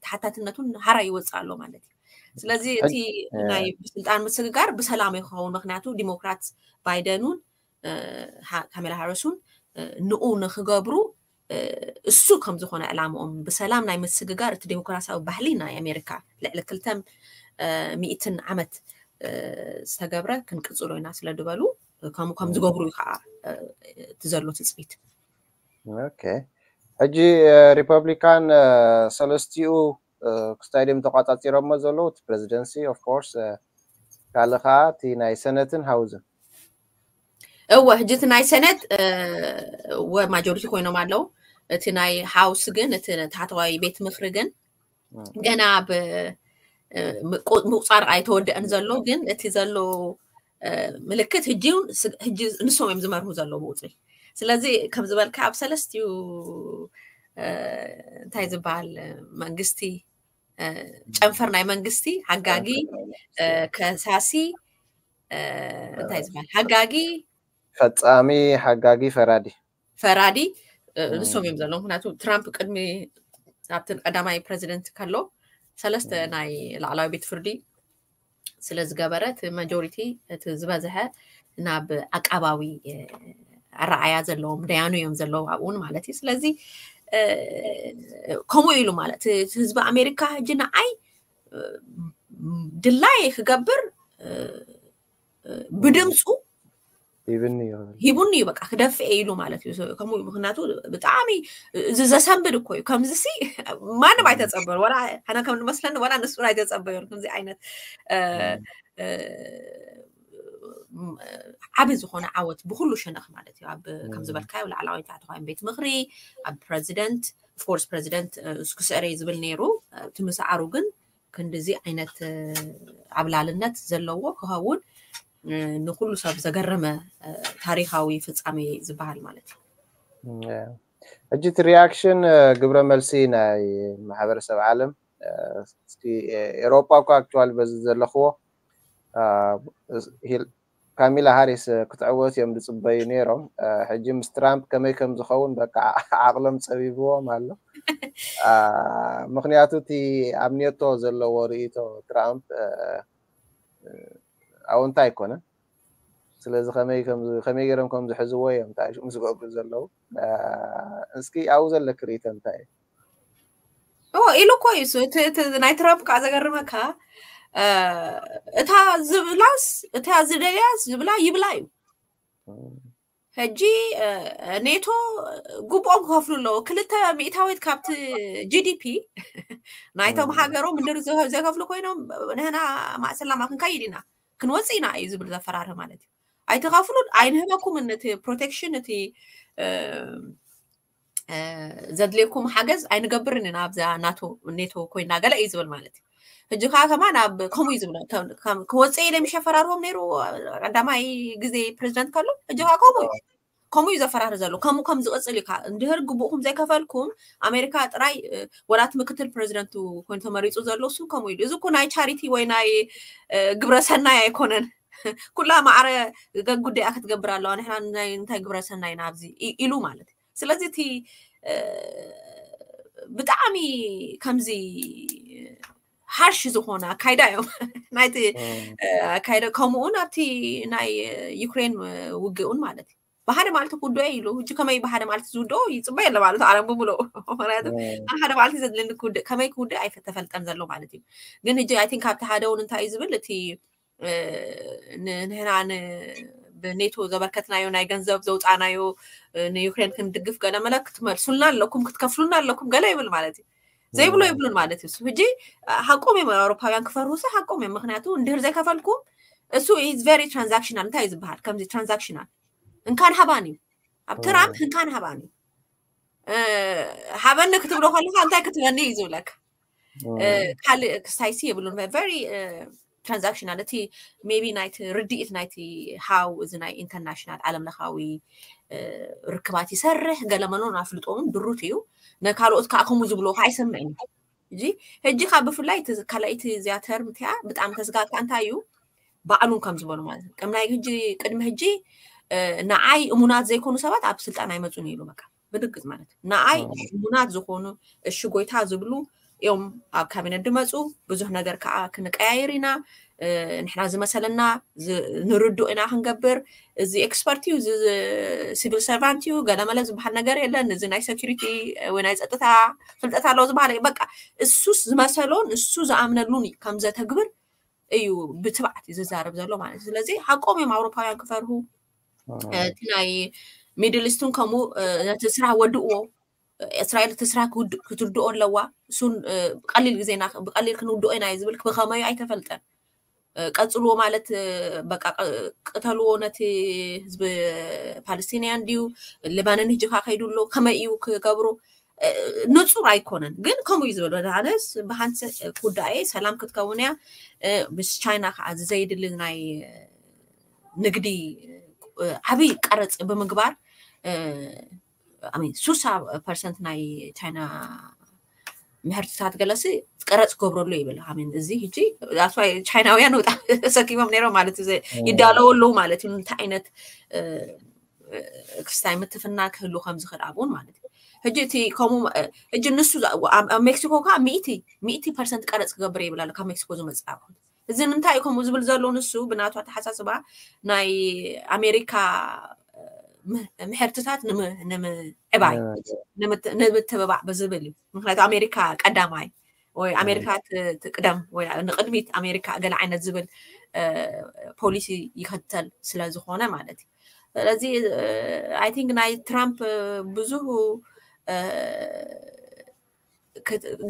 ተሓታትነቱን ሃራ ይወፅእ ኣሎ ማለት እዩ። ስለዚ እቲ ናይ ስልጣን ምስግጋር ብሰላም ይኸውን ምክንያቱ ዲሞክራት ባይደኑን ካሜላ ሃረሱን ንኡ ንክገብሩ እሱ ከም ዝኾነ ዕላምኦም ብሰላም ናይ ምስግጋር እቲ ዴሞክራሲያዊ ባህሊ ናይ ኣሜሪካ ልዕሊ ክልተ ሚእትን ዓመት ዝተገብረ ክንቅፅሎ ኢና ስለ ዝበሉ ከም ዝገብሩ እዩ ከዓ እቲ ዘሎ ትፅቢት። ሕጂ ሪፐብሊካን ሰለስቲኡ ክስታይ ድም ተቋፃፂሮሞ ዘለዉ እቲ ፕሬዚደንሲ ኦፍኮርስ ካልእ ከዓ እቲ ናይ ሰነትን ሃውዝን እወ ሕጂ እቲ ናይ ሰነት ወ ማጆሪቲ ኮይኖም ኣለዉ። እቲ ናይ ሃውስ ግን እቲ ታሕተዋይ ቤት ምክሪ ግን ገና ብ ምቁፃር ኣይተወደአን ዘሎ ግን እቲ ዘሎ ምልክት ሕጂ ንሶም እዮም ዝመርሁ ዘለዉ ብቁፅሪ። ስለዚ ከም ዝበልካ ኣብ ሰለስቲኡ እንታይ ዝበሃል መንግስቲ ጨንፈር ናይ መንግስቲ ሓጋጊ ከሳሲ እንታይ ዝበሃል ሓጋጊ ፈፃሚ ሓጋጊ ፈራዲ ፈራዲ ንሶም እዮም ዘለዉ። ምክንያቱ ትራምፕ ቅድሚ ኣብቲ ቀዳማይ ፕረዚደንት ከሎ ሰለስተ ናይ ላዕላዊ ቤት ፍርዲ ስለ ዝገበረ እቲ ማጆሪቲ እቲ ዝበዝሐ ናብ ዓቃባዊ ኣረኣያ ዘለዎም ደያኑ እዮም ዘለዉ ኣብኡን ማለት እዩ። ስለዚ ከምኡ ኢሉ ማለት ህዝቢ ኣሜሪካ ሕጂ ንዓይ ድላይ ክገብር ብድምፁ ሂብኒ እዩ ሂቡኒ እዩ በቃ ክደፍእ ኢሉ ማለት እዩ። ከምኡ ምክንያቱ ብጣዕሚ እዚ ዘሰንብድ እኮ እዩ። ከምዚ ሲ ማንም ኣይተፀበዩ ወላ ሓና ከም ንመስለኒ ወላ ንሱ ኣይተፀበዩን ከምዚ ዓይነት ዓቢ ዝኾነ ዓወት ብኩሉ ሸነኽ ማለት እዩ። ኣብ ከም ዝበልካዮ ላዕላዋይ ታሕተዋይ ቤት ምክሪ ኣብ ፕረዚደንት ኦፍኮርስ ፕረዚደንት ክስዕር እዩ ዝብል ነይሩ። እቲ ምስዓሩ ግን ክንድዚ ዓይነት ዓብላልነት ዘለዎ ክኸውን ንኩሉ ሰብ ዘገረመ ታሪካዊ ፍፃሜ ዝበሃል ማለት እዩ። ሕጂ እቲ ሪያክሽን ግብረ መልሲ ናይ ማሕበረሰብ ዓለም እስኪ ኤሮፓ እኳ ኣክቹዋሊ በዚ ዘለኽዎ ካሚላ ሃሪስ ክትዕወት እዮም ዝፅበዩ ነይሮም። ሕጂ ምስ ትራምፕ ከመይ ከም ዝኸውን በቃ ዓቕሎም ፀቢብዎም ኣሎ። ምክንያቱ እቲ ኣብ ኔቶ ዘለዎ ርእይቶ ትራምፕ ኣወንታ ኣይኮነን። ስለዚ ከመይ ገይሮም ከም ዝሕዝዎ እዮም ታሽሙ ዝገብሩ ዘለዉ። እስኪ ኣብኡ ዘለክ ርእይቶ እንታይ እዩ? ኢሉ እኮ እዩ ናይ ትራምፕ ከዓ ዘገርመካ እታ ዝብላስ እታ ዝደልያስ ዝብላ ይብላ እዩ። ሕጂ ኔቶ ግቡኦም ክኸፍሉ ኣለዎ። ክልተ ሚእታዊት ካብቲ ጂዲፒ ናይቶም ሃገሮም እንድር ዘይከፍሉ ኮይኖም ንህና ማእሰላማ ክንከይድ ኢና ክንወፅእ ኢና እዩ ዝብል ዘፈራርህ ማለት እዩ። ኣይትኸፍሉን ኣይንህበኩምን እቲ ፕሮቴክሽን እቲ ዘድልየኩም ሓገዝ ኣይንገብርን ኢና ኣብዛ ናቶ ኔቶ ኮይና ገለ እዩ ዝብል ማለት እዩ። ሕጂ ከዓ ከማን ኣብ ከምኡ እዩ ዝብሎ ክወፅእ ኢለ ምሸፈራርዎም ነይሩ ቀዳማይ ግዜ ፕሬዚደንት ከሎ ሕጂ ከዓ ከምኡ እዩ ከምኡ እዩ ዘፈራር ዘሎ። ከምኡ ከም ዝቕፅል እዩ እንድህር ግቡእኩም ዘይከፈልኩም ኣሜሪካ ጥራይ ወላት ምክትል ፕሬዚደንቱ ኮይኑ ተመሪፁ ዘሎ እሱ ከምኡ ኢሉ እዚ እኮ ናይ ቻሪቲ ወይ ናይ ግብረሰናይ ኣይኮነን። ኩላ ማዕረ ጉዳያ ክትገብር ኣለዋ ንሕና እንታይ ግብረሰናይ ኢና ኣብዚ ኢሉ ማለት እዩ። ስለዚ እቲ ብጣዕሚ ከምዚ ሃርሽ ዝኾነ ኣካይዳ እዮም ናይቲ ኣካይዳ። ከምኡውን ኣብቲ ናይ ዩክሬን ውግእውን ማለት እዩ ብሓደ ማለት ክውድኦ ኢሉ ሕጂ ከመይ ብሓደ ማለት ዝውድኦ ይፅበ የለ ማለት ኣለም ብምልኡ ምክንያቱ ሓደ ማለት ዘድልኒ ከመይ ክውድእ ኣይተፈልጠን ዘሎ ማለት እዩ። ግን ሕጂ ኣይ ቲንክ ኣብቲ ሓደ እውን እንታይ እዩ ዝብል እቲ ንህና ብኔቶ ዘበርከትናዮ ናይ ገንዘብ ዘውፃናዮ ንዩክሬን ክንድግፍ ገለ መለ ክትመልሱልና ኣለኩም ክትከፍሉና ኣለኩም ገለ ይብል ማለት እዩ። ዘይብሎ ይብሉን ማለት እዩ። ሕጂ ሓቆም እዮም ኣውሮፓውያን ክፈርሁሲ ሓቆም እዮም። ምክንያቱ እንድህር ዘይከፈልኩም እሱ very transactional እንታይ እዩ ዝበሃል ከምዚ transactional እንካን ሃባን እዩ። ኣብ ትራምፕ እንካን ሃባን እዩ። ሃበኒ ክትብሎ ከለካ እንታይ ክትበኒ እዩ ዝብለካ ካልእ ክስታይሲ የብሉን። Very transactional እቲ maybe ናይቲ ርድኢት ናይቲ how እዚ ናይ ኢንተርናሽናል ዓለም ለኻዊ ርክባት ይሰርሕ ገለ መኖን ኣፍልጦውን ድሩት እዩ። ንካልኦት ከዓ ከምኡ ዝብሎ ከዓ ኣይሰምዕን እዩ። ሕጂ ሕጂ ካብ ብፍላይ ካልኣይቲ እዚኣ ተርም እቲኣ ብጣዕሚ ተስጋካ እንታይ እዩ ባዕሉን ከም ዝበሉ ማለት እዩ። ቅድሚ ናይ ሕጂ ቅድሚ ሕጂ ንዓይ እሙናት ዘይኮኑ ሰባት ኣብ ስልጣን ኣይመፁን እዩ ኢሉ በቃ ብድግፅ ማለት እዩ። ንዓይ እሙናት ዝኾኑ እሺ ጎይታ ዝብሉ እዮም ኣብ ካቢነት ድመፁ። ብዙሕ ነገር ከዓ ክንቀያየር ኢና። ንሕና ዝመሰለና ንርድኦ ኢና ክንገብር። እዚ ኤክስፐርት እዩ፣ እዚ ሲቪል ሰርቫንት እዩ፣ ገለመለ ዝበሃል ነገር የለን። እዚ ናይ ሴኩሪቲ ወይ ናይ ፀጥታ ፍልጠት ኣለዎ ዝበሃል በቃ እሱስ ዝመሰሎን እሱ ዝኣምነሉን እዩ ከም ዘተግብር እዩ ብትብዓት እዩ ዝዛረብ ዘሎ ማለት እዩ። ስለዚ ሓቆም እዮም ኣውሮፓውያን ክፈርሁ። እቲ ናይ ሚድል ኢስትን ከምኡ ነቲ ስራሕ ወድእዎ እስራኤል እቲ ስራሕ ክትውድኦ ኣለዋ። እሱን ብቀሊል ግዜና ብቀሊል ክንውድኦ ኢና እዩ ዝብል ብከመዩ ኣይተፈልጠን። ቀፅልዎ ማለት በቃ ቅተልዎ ነቲ ህዝቢ ፓለስቲንያን ድዩ ሌባንን ህጂ ከ ከይዱ ኣሎ ከመይ እዩ ክገብሩ ንፁር ኣይኮነን። ግን ከምኡ እዩ ዝበሎ ዳነስ ብሃንሰ ክውዳእ እየ ሰላም ክትከውን እያ። ምስ ቻይና ከዓ ዘይድሊ ናይ ንግዲ ዓብይ ቀረፅ ብምግባር ሱሳ ፐርሰንት ናይ ቻይና ምህርትታት ገለሲ ቀረፅ ክገብረሉ ይብል። ኣሜን እዚ ህጂ ቻይናውያን ወጣ ሰኪሞም ነይሮም ማለት እዩ። ይዳለወ ኣለዉ ማለት እዩ። እንታይ ዓይነት ክስታይ ምትፍና ክህሉ ከም ዝኽእል ኣብኡን ማለት እዩ። ሕጂ እቲ ከምኡ ሕጂ ንሱ ኣብ ሜክሲኮ ከዓ ሚእቲ ሚእቲ ፐርሰንት ቀረፅ ክገብር ይብል ኣሎ ካብ ሜክሲኮ ዝመፅእ ኣቑሑት። እዚ ንምንታይ እዩ ከምኡ ዝብል ዘሎ? ንሱ ብናቱ ኣተሓሳስባ ናይ ኣሜሪካ ምሕርትታት ንምዕባይ ንምትብባዕ ብዝብል እዩ። ምክንያቱ ኣሜሪካ ቀዳማይ ወይ ኣሜሪካ ትቅደም ወይ ንቅድሚት ኣሜሪካ ገለ ዓይነት ዝብል ፖሊሲ ይከተል ስለዝኮነ ማለት እዩ። ስለዚ ኣይ ቲንክ ናይ ትራምፕ ብዙ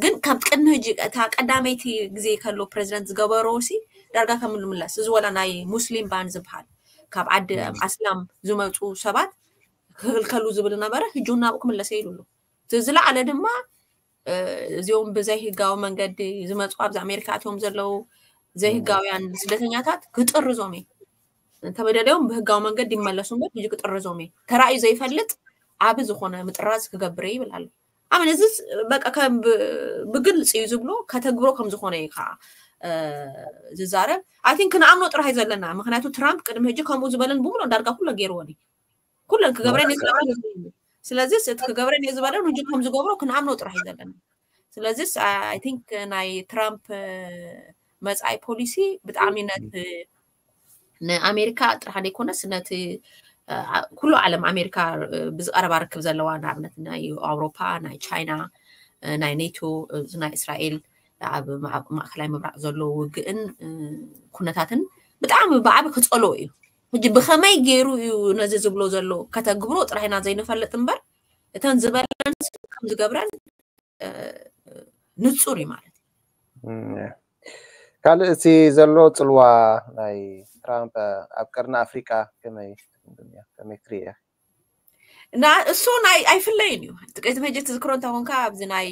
ግን ካብ ቅድሚ ሕጂ እታ ቀዳመይቲ ግዜ ከሎ ፕሬዚደንት ዝገበሮ ሲ ዳርጋ ከም ንምለስ እዚ ወላ ናይ ሙስሊም ባን ዝበሃል ካብ ዓዲ ኣስላም ዝመፁ ሰባት ክክልከሉ ዝብል ነበረ። ሕጂ ናብኡ ክምለሰ ኢሉ ኣሎ። ዝለዓለ ድማ እዚኦም ብዘይ ህጋዊ መንገዲ ዝመፁ ኣብዚ ኣሜሪካ ኣትዮም ዘለዉ ዘይህጋውያን ስደተኛታት ክጥርዞም እዩ። እንተበደለዮም ብህጋዊ መንገዲ ይመለሱ እምበር ሕጂ ክጥርዞም እዩ። ተራእዩ ዘይፈልጥ ዓቢ ዝኾነ ምጥራዝ ክገብር ይብል ኣሎ። ኣመን እዚ በቃ ከም ብግልፂ እዩ ዝብሎ ከተግብሮ ከም ዝኾነ እዩ ከዓ ዝዛረብ ኣይ ቲንክ ክንኣምኖ ጥራሕ እዩ ዘለና። ምክንያቱ ትራምፕ ቅድሚ ሕጂ ከምኡ ዝበለን ብምሎ ዳርጋ ኩሎ ገይርዎን እዩ። ኩለን ክገብረን እየ ዝበለን እዩ። ስለዚ እቲ ክገብረን እየ ዝበለን ሕጂ ከም ዝገብሮ ክንኣምኖ ጥራሕ እዩ ዘለና። ስለዚ ኣይ ቲንክ ናይ ትራምፕ መፃኢ ፖሊሲ ብጣዕሚ ነት ንኣሜሪካ ጥራሕ ዘይኮነስ ነቲ ኩሉ ዓለም ኣሜሪካ ብዝቀረባ ርክብ ዘለዋ ንኣብነት ናይ ኣውሮፓ፣ ናይ ቻይና፣ ናይ ኔቶ፣ ናይ እስራኤል ኣብ ማእከላይ ምብራቅ ዘሎ ውግእን ኩነታትን ብጣዕሚ ብዓቢ ክፀልኦ እዩ። ሕጂ ብከመይ ገይሩ እዩ ነዚ ዝብሎ ዘሎ ከተግብሮ ጥራሕ ኢና ዘይንፈልጥ እምበር እተን ዝበለን ከም ዝገብረን ንፁር እዩ ማለት እዩ። ካልእ እቲ ዘሎ ፅልዋ ናይ ትራምፕ ኣብ ቀርኒ ኣፍሪቃ ከመይ ከመይ ትሪእያ? እሱ ናይ ኣይፍለይን እዩ። ጥቅቲ መጀ ትዝክሮ እንተኾንካ ኣብዚ ናይ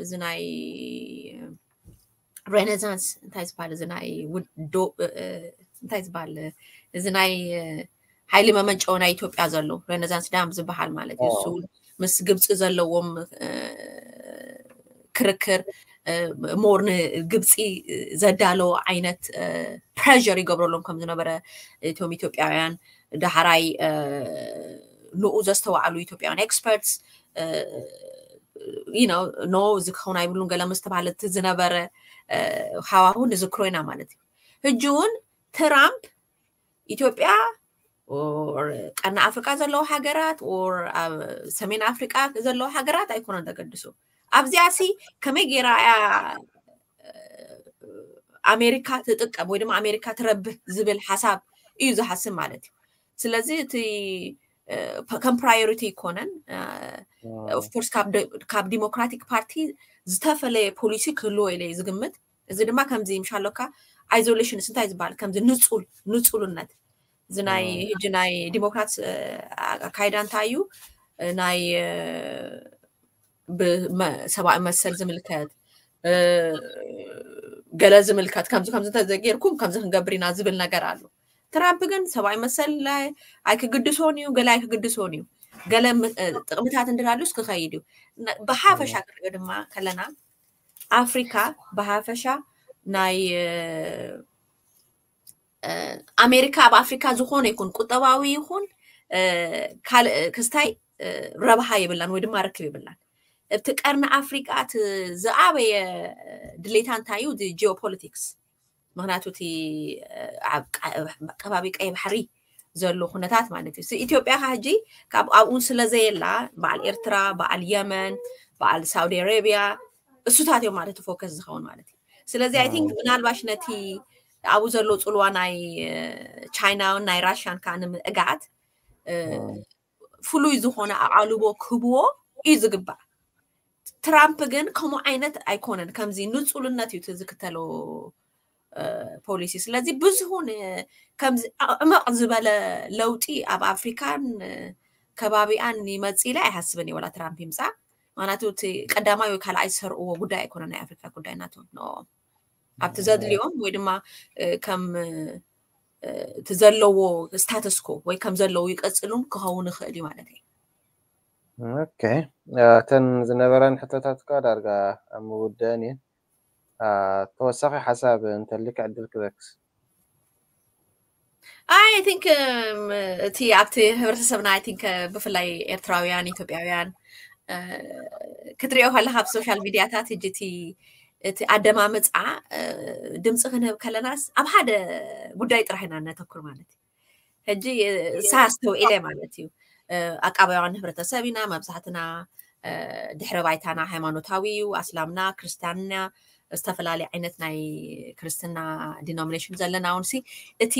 እዚ ናይ ሬኔሳንስ እንታይ ዝበሃል እዚ ናይ ውዶ እንታይ ዝበሃል እዚ ናይ ሓይሊ መመንጨዊ ናይ ኢትዮጵያ ዘሎ ሬኔሳንስ ዳም ዝበሃል ማለት እዩ። እሱ ምስ ግብፂ ዘለዎም ክርክር ሞር ንግብፂ ዘዳለዎ ዓይነት ፕሬር ይገብረሎም ከም ዝነበረ እቶም ኢትዮጵያውያን ዳሕራይ ንኡ ዘስተውዓሉ ኢትዮጵያውያን ኤክስፐርትስ ኖ እዚ ክኸውን ኣይብሉን ገለ ምስ ተባሃለ እቲ ዝነበረ ሃዋሁ ንዝክሮ ኢና ማለት እዩ። ሕጂ እውን ትራምፕ ኢትዮጵያ ቀርኒ ኣፍሪቃ ዘለዉ ሃገራት ኦር ኣብ ሰሜን ኣፍሪቃ ዘለዉ ሃገራት ኣይኮነን ተገድሱ ኣብዚኣ ሲ ከመይ ገይራ እያ ኣሜሪካ ትጥቀም ወይ ድማ ኣሜሪካ ትረብህ ዝብል ሓሳብ እዩ ዝሓስብ ማለት እዩ። ስለዚ እቲ ከም ፕራዮሪቲ ይኮነን ኦፍኮርስ ካብ ዲሞክራቲክ ፓርቲ ዝተፈለየ ፖሊሲ ክህልዎ ኢለ ዝግምት። እዚ ድማ ከምዚ ምሻሎካ ኣይዞሌሽንስ እንታይ ዝበሃል ከምዚ ንፁል ንፁልነት እዚ ናይ ህጂ ናይ ዲሞክራት ኣካይዳ እንታይ እዩ ናይ ብሰብኣዊ መሰል ዝምልከት ገለ ዝምልከት ከምዚ ከምዚ እንተዘጌርኩም ከምዚ ክንገብር ኢና ዝብል ነገር ኣሎ። ትራምፕ ግን ሰብኣዊ መሰል ኣይክግድሶን እዩ ገለ ኣይክግድሶን እዩ ገለ ጥቅምታት እንድላሉስ ክኸይድ እዩ። ብሓፈሻ ክንሪኦ ድማ ከለና ኣፍሪካ ብሓፈሻ ናይ ኣሜሪካ ኣብ ኣፍሪካ ዝኾነ ይኹን ቁጠባዊ ይኹን ካልእ ክስታይ ረብሃ የብላን ወይ ድማ ርክብ የብላን። እቲ ቀርኒ ኣፍሪቃ እቲ ዝኣበየ ድሌታ እንታይ እዩ? ጂኦፖለቲክስ። ምክንያቱ እቲ ኣብ ከባቢ ቀይ ባሕሪ ዘሎ ኩነታት ማለት እዩ። ኢትዮጵያ ካ ሕጂ ካብ ኣብኡ ስለዘየላ በዓል ኤርትራ፣ በዓል የመን፣ በዓል ሳውዲ ኣረቢያ እሱታት እዮም ማለት ፎከስ ዝኸውን ማለት እዩ። ስለዚ ኣይ ቲንክ ምናልባሽ ነቲ ኣብኡ ዘሎ ፅልዋ ናይ ቻይናን ናይ ራሽያን ከዓ ንምእጋት ፍሉይ ዝኾነ ኣቓልቦ ክህብዎ እዩ ዝግባእ። ትራምፕ ግን ከምኡ ዓይነት ኣይኮነን። ከምዚ ንፁልነት እዩ ዝክተሎ ፖሊሲ። ስለዚ ብዙሁን ከምዚ ዕመቕ ዝበለ ለውጢ ኣብ ኣፍሪካን ከባቢኣን ይመፅእ ኢለ ኣይሓስብን እየ። ዋላ ትራምፕ ይምፃእ ምክንያቱ እቲ ቀዳማይ ወይ ካልኣይ ዝሰርእዎ ጉዳይ ኣይኮነ ናይ ኣፍሪካ ጉዳይ ናቶም ንኦም ኣብቲ ዘድልዮም ወይ ድማ ከም እቲ ዘለዎ ስታተስኮ ወይ ከም ዘለዉ ይቀፅሉን ክኸውን ይኽእል እዩ ማለት እዩ። ኦኬ እተን ዝነበረን ሕቶታት እኳ ዳርጋ ኣብ ምውደአን እየን። ተወሳኺ ሓሳብ እንተልክ ዕድል ክበክስ ኣይ ቲንክ እቲ ኣብቲ ህብረተሰብና ኣይ ቲንክ ብፍላይ ኤርትራውያን ኢትዮጵያውያን ክትሪኦ ከለካ ኣብ ሶሻል ሚዲያታት ሕጂ እቲ እቲ ኣደማምፃ ድምፂ ክንህብ ከለናስ ኣብ ሓደ ጉዳይ ጥራሕ ኢና እነተኩር ማለት እዩ። ሕጂ ሳስተውዒለ ማለት እዩ። ኣቃባውያን ህብረተሰብ ኢና መብዛሕትና ድሕረ ባይታና ሃይማኖታዊ እዩ። ኣስላምና ክርስትያንና ዝተፈላለዩ ዓይነት ናይ ክርስትና ዲኖሚኔሽን ዘለና እውን ሲ እቲ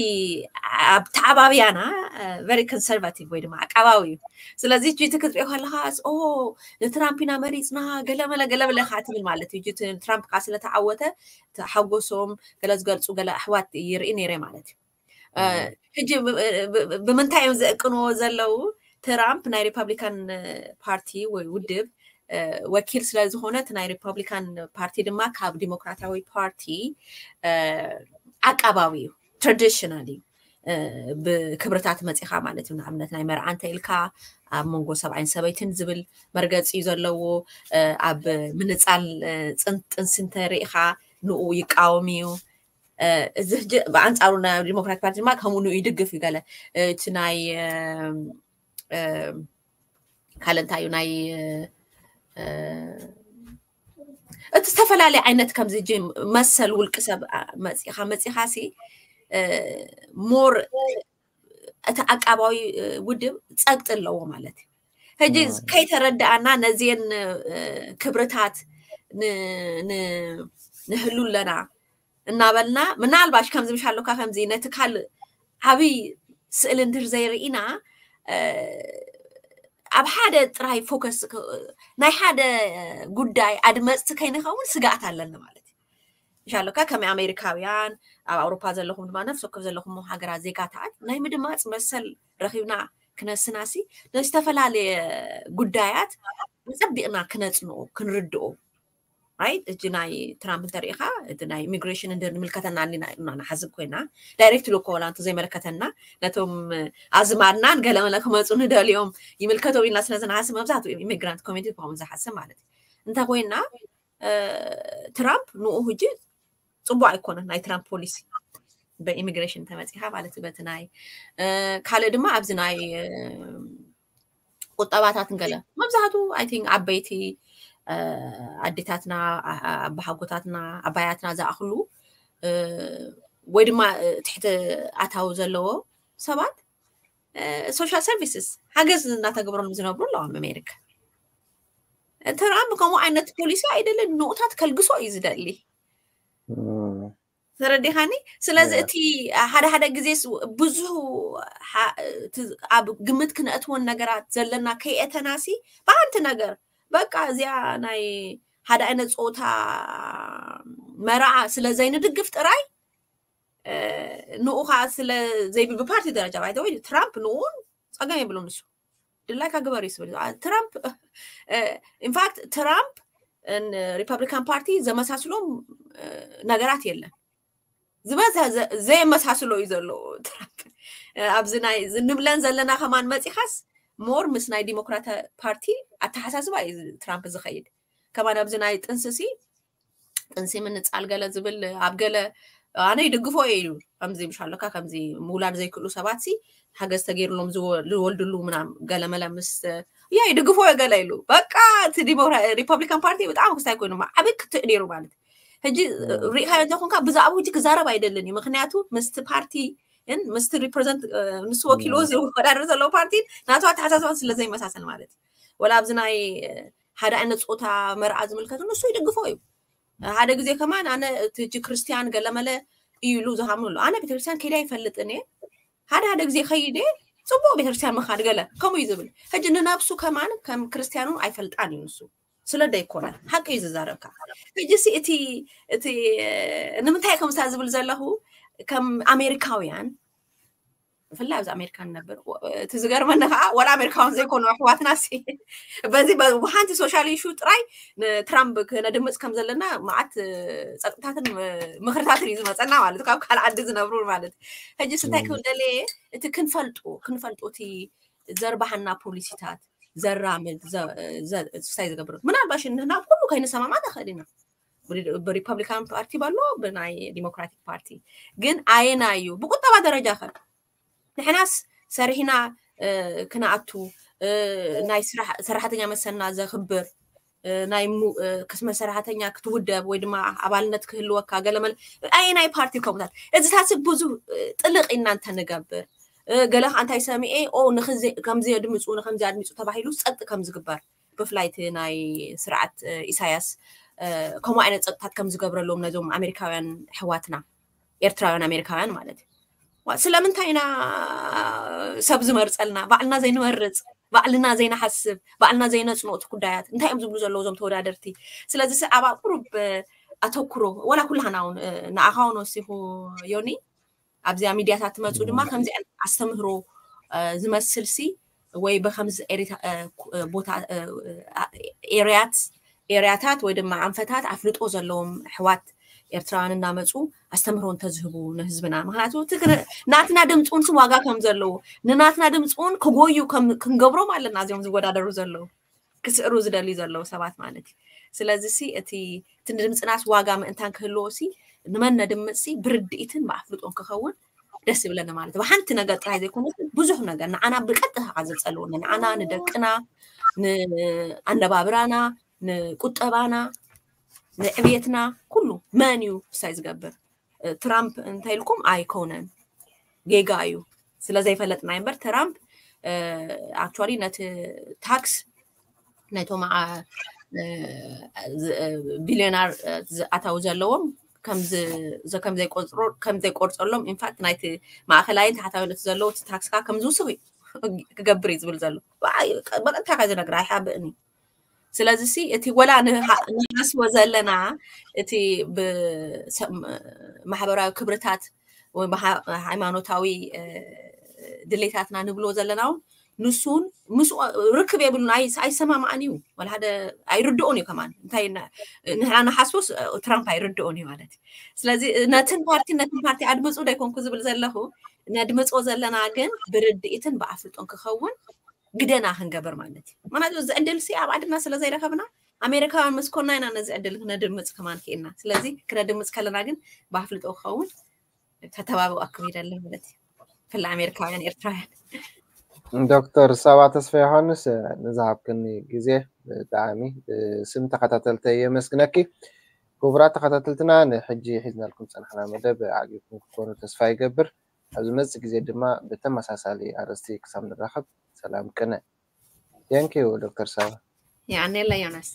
ኣብ ተዓባብያና ቨሪ ኮንሰርቫቲቭ ወይ ድማ ዓቃባዊ እዩ። ስለዚ ጅቲ ክትሪኦ ከለካ ኦ ንትራምፕ ኢና መሪፅና ገለመለ ገለመለ ካ ትብል ማለት እዩ። ጅቲ ትራምፕ ካ ስለተዓወተ ተሓጎሶም ገለ ዝገልፁ ገለ ኣሕዋት ይርኢ ነይረ ማለት እዩ። ሕጂ ብምንታይ እዮም ዘእቅንዎ ዘለዉ? ትራምፕ ናይ ሪፐብሊካን ፓርቲ ወይ ውድብ ወኪል ስለ ዝኾነ እቲ ናይ ሪፐብሊካን ፓርቲ ድማ ካብ ዲሞክራታዊ ፓርቲ ዓቃባዊ እዩ፣ ትራዲሽናል እዩ። ብክብርታት መፂኻ ማለት እዩ። ንኣብነት ናይ መርዓ እንተ ኢልካ ኣብ መንጎ ሰብኣይን ሰበይትን ዝብል መርገፂ እዩ ዘለዎ። ኣብ ምንፃል ጥንሲ እንተሪኢኻ ንኡ ይቃወም እዩ። እዚ ሕጂ ብኣንፃሩ ናይ ዲሞክራቲክ ፓርቲ ድማ ከምኡ ንኡ ይድግፍ እዩ። ገለ እቲ ናይ ካልእ እንታይ እዩ ናይ እቲ ዝተፈላለየ ዓይነት ከምዚ ጂ መሰል ውልቂ ሰብ መፂኻ መፂኻ ሲ ሞር እቲ ዓቃባዊ ውድብ ፀግጢ ኣለዎ ማለት እዩ። ሕጂ ከይተረዳእና ነዚን ክብርታት ንህሉ ኣለና እናበልና ምናልባሽ ከምዚ ምሽ ኣለካ ከምዚ ነቲ ካልእ ዓብይ ስእሊ እንድር ዘይርኢና ኣብ ሓደ ጥራይ ፎከስ ናይ ሓደ ጉዳይ ኣድመፅቲ ከይንኸውን ስጋኣት ኣለኒ ማለት እዩ። ምሽ ኣለካ ከመይ ኣሜሪካውያን ኣብ ኣውሮፓ ዘለኹም ድማ ነፍሲ ወከፍ ዘለኹም ሃገራት ዜጋታት ናይ ምድማፅ መሰል ረኺብና ክነስናሲ ንዝተፈላለየ ጉዳያት ኣፀቢቕና ክነፅንኦ ክንርድኦ ኣይ እጂ ናይ ትራምፕ እንተሪኢኻ እቲ ናይ ኢሚግሬሽን እንድር ንምልከተና ንሓስብ ኮይና ዳይሬክት ሉኮ ወላ እንተ ዘይመለከተና ነቶም ኣዝማድናን ገለመለ ክመፁ ንደልዮም ይምልከቶም ኢልና ስለ ዝንሓስብ መብዛሕትኡ ኢሚግራንት ኮሚኒቲ ከምኡ ዝሓስብ ማለት እዩ። እንተ ኮይና ትራምፕ ንኡ ህጂ ፅቡቅ ኣይኮነን ናይ ትራምፕ ፖሊሲ በኢሚግሬሽን ተመፂኻ ማለት በቲ ናይ ካልእ ድማ ኣብዚ ናይ ቁጠባታት ንገለ መብዛሕቱ ኣይ ቲንክ ዓበይቲ ኣዴታትና ኣባሓጎታትና ኣባያትና ዝኣኽሉ ወይ ድማ ትሕቲ ኣታዊ ዘለዎ ሰባት ሶሻል ሰርቪስስ ሓገዝ እናተገብሮም ዝነብሩ ኣለዎም ኣሜሪካ። ትራምፕ ከምኡ ዓይነት ፖሊሲ ኣይደልን ንኡታት ከልግሶ እዩ ዝደሊ። ተረዲኻኒ? ስለዚ እቲ ሓደ ሓደ ግዜ ብዙ ኣብ ግምት ክነእትወን ነገራት ዘለና ከይእተናሲ ብሓንቲ ነገር በቃ እዚኣ ናይ ሓደ ዓይነት ፆታ መርዓ ስለ ዘይንድግፍ ጥራይ ንኡ ከዓ ስለ ዘይብል ብፓርቲ ደረጃ ባይተወይ ትራምፕ ንኡን ፀገም የብሉ ንሱ ድላይካ ግበር እዩ ዝብል ትራምፕ ኢንፋክት ትራምፕ ሪፐብሊካን ፓርቲ ዘመሳስሎም ነገራት የለን። ዝበዝሐ ዘየመሳስሎ እዩ ዘሎ ትራምፕ። ኣብዚ ናይ ንብለን ዘለና ከማን መፂኻስ ሞር ምስ ናይ ዲሞክራት ፓርቲ ኣተሓሳስባ እዩ ትራምፕ ዝኸይድ። ከማን ኣብዚ ናይ ጥንስሲ ጥንሲ ምንፃል ገለ ዝብል ኣብ ገለ ኣነ ይድግፎ እየ ኢሉ ከምዚ ምሽ ኣለካ ከምዚ ምውላድ ዘይክእሉ ሰባት ሲ ሓገዝ ተገይርሎም ዝወልድሉ ምናም ገለመለ ምስ ያ ይድግፎ እየ ገለ ኢሉ በቃ እቲ ሪፐብሊካን ፓርቲ ብጣዕሚ ክስታይ ኮይኑ ዓብይ ክትዕ ነይሩ ማለት ሕጂ ሪኢኻዮ እንተኮንካ ብዛዕባ ሕጂ ክዛረብ ኣይደልን እዩ ምክንያቱ ምስቲ ፓርቲ ን ምስቲ ሪፕሬዘንት ንሱ ወኪልዎ ዝወዳደር ዘለዎ ፓርቲ ናቱ ኣተሓሳስባን ስለ ዘይመሳሰል ማለት እዩ ወላ ኣብዚ ናይ ሓደ ዓይነት ፆታ መርዓ ዝምልከት ንሱ ይድግፎ እዩ ሓደ ግዜ ከማን ኣነ እቲ ሕጂ ክርስትያን ገለመለ እዩ ኢሉ ዝሃምኑ ኣሎ ኣነ ቤተክርስትያን ከይዳ ይፈልጥን እየ ሓደ ሓደ ግዜ ከይደ ፅቡቅ ቤተክርስትያን ምካድ ገለ ከምኡ እዩ ዝብል ሕጂ ንነብሱ ከማን ከም ክርስትያኑ ኣይፈልጣን እዩ ንሱ ስለ ደይኮነ ሓቂ እዩ ዝዛረብካ ሕጂ ሲ እቲ እቲ ንምንታይ ከምሳ ዝብል ዘለኹ ከም ኣሜሪካውያን ብፍላይ ኣብዚ ኣሜሪካ ንነብር እቲ ዝገርመኒ ከዓ ወላ ኣሜሪካውን ዘይኮኑ ኣሕዋትና በዚ ብሓንቲ ሶሻል ኢሹ ጥራይ ንትራምፕ ክነድምፅ ከም ዘለና መዓት ፀጥታትን ምክርታትን እዩ ዝመፀና ማለት ካብ ካልእ ዓዲ ዝነብሩ ማለት ሕጂ ስንታይ ክብል ደለየ እቲ ክንፈልጡ ክንፈልጡ እቲ ዘርባሃና ፖሊሲታት ዘራምድ ስታይ ዝገብር ምናልባሽ ንህና ኩሉ ከይንሰማማ ንኽእል ኢና ብሪፐብሊካን ፓርቲ በሎ ብናይ ዲሞክራቲክ ፓርቲ ግን ኣየና እዩ ብቁጠባ ደረጃ ከ ንሕናስ ሰሪሕና ክነኣቱ ናይ ሰራሕተኛ መሰልና ዘኽብር ናይ ክስመ ሰራሕተኛ ክትውደብ ወይ ድማ ኣባልነት ክህልወካ ገለመለ ኣየናይ ፓርቲ ከምታት እዚታት ብዙ ጥልቕ ኢና እንተንገብር ገለ ከዓ እንታይ ሰሚኤ ኦ ከምዚ ኣድምፁ ንከምዚ ኣድምፁ ተባሂሉ ፀጥ ከም ዝግበር ብፍላይ እቲ ናይ ስርዓት ኢሳያስ ከምኡ ዓይነት ፀጥታት ከም ዝገብረሎም ነዞም ኣሜሪካውያን ኣሕዋትና ኤርትራውያን ኣሜሪካውያን ማለት እዩ ስለምንታይ ኢና ሰብ ዝመርፀልና ባዕልና ዘይንመርፅ ባዕልና ዘይንሓስብ ባዕልና ዘይነፅንኦ እቲ ጉዳያት እንታይ እዮም ዝብሉ ዘለዉ እዞም ተወዳደርቲ ስለዚ ኣብ ቁሩብ ኣተኩሮ ወላ ኩላህና እውን ንኣኻ እውን ወሲኹ ዮኒ ኣብዚኣ ሚድያታት ትመፁ ድማ ከምዚኣን ኣስተምህሮ ዝመስል ሲ ወይ ብከምዚ ቦታ ኤርያት ኤርያታት ወይ ድማ ኣንፈታት ኣፍልጦ ዘለዎም ኣሕዋት ኤርትራውያን እናመፁ ኣስተምህሮ እንተዝህቡ ንህዝብና ምክንያቱ ናትና ድምፂ እውን ዋጋ ከም ዘለዎ ንናትና ድምፂ እውን ክጎዩ ክንገብሮም ኣለና እዚኦም ዝወዳደሩ ዘለዉ ክስዕሩ ዝደልዩ ዘለዉ ሰባት ማለት እዩ ስለዚ ሲ እቲ እቲ ንድምፅናስ ዋጋ ምእንታን ክህልዎ ሲ ንመን ነድምፅ ሲ ብርድኢትን ብኣፍልጦን ክኸውን ደስ ይብለኒ ማለት እዩ። ብሓንቲ ነገር ጥራይ ዘይኮነ ብዙሕ ነገር ንዓና ብቀጥታ ከዓ ዘፀልውና ንዓና ንደቅና ንኣነባብራና ንቁጠባና ንዕብየትና ኩሉ መን እዩ ክሳይ ዝገብር ትራምፕ እንታይ ኢልኩም ኣይኮነን ጌጋ እዩ። ስለዘይፈለጥና እምበር ትራምፕ ኣክቹዋሊ ነቲ ታክስ ናይቶም ቢልዮናር ኣታዊ ዘለዎም ከም ዘይቆርፀሎም ኢንፋክት ናይቲ ማእከላይን ታሕታዊ ነቲ ዘለዎ እቲ ታክስ ከዓ ከም ዝውስኽ ክገብር እዩ ዝብል ዘሎ። በቀጥታ ከ ዝነግር ኣይሓብእን እዩ። ስለዚ ሲ እቲ ወላ ንሓስቦ ዘለና እቲ ማሕበራዊ ክብርታት ወይ ሃይማኖታዊ ድሌታትና ንብሎ ዘለና እውን ንሱን ምስ ርክብ የብሉን ኣይሰማማዕን እዩ። ወላ ሓደ ኣይርድኦን እዩ ከማን እንታይ ንሕና ንሓስቦስ ትራምፕ ኣይርድኦን እዩ ማለት እዩ። ስለዚ ነትን ፓርቲ ነትን ፓርቲ ኣድምፁ ዶ ኣይኮንኩ ዝብል ዘለኹ ነድምፆ ዘለና ግን ብርድኢትን ብኣፍልጦን ክኸውን ግደና ክንገብር ማለት እዩ። ምክንያቱ እዚ ዕድል ሲ ኣብ ዓድና ስለ ዘይረከብና ኣሜሪካውያን ምስ ኮና ኢና ነዚ ዕድል ክነድምፅ ከማን ክኢልና። ስለዚ ክነድምፅ ከለና ግን ብኣፍልጦ ክኸውን ተተባብኣኩም ይደሊ ማለት እዩ። ክላ ኣሜሪካውያን ኤርትራውያን ዶክተር ሳባ ተስፋ ዮሃንስ ንዝሃብክኒ ግዜ ብጣዕሚ ስም ተኸታተልተ የመስግነኪ። ክቡራት ተኸታተልትና ንሕጂ ሒዝናልኩም ፀናሕና መደብ ዓጊብኩም ክኮኑ ተስፋ ይገብር። ኣብ ዝመፅእ ግዜ ድማ ብተመሳሳሊ ኣርእስቲ ክሳብ ንራኸብ ሰላም ቅነ። Thank you ዶክተር ሳባ። የቀንየለይ ዮናስ።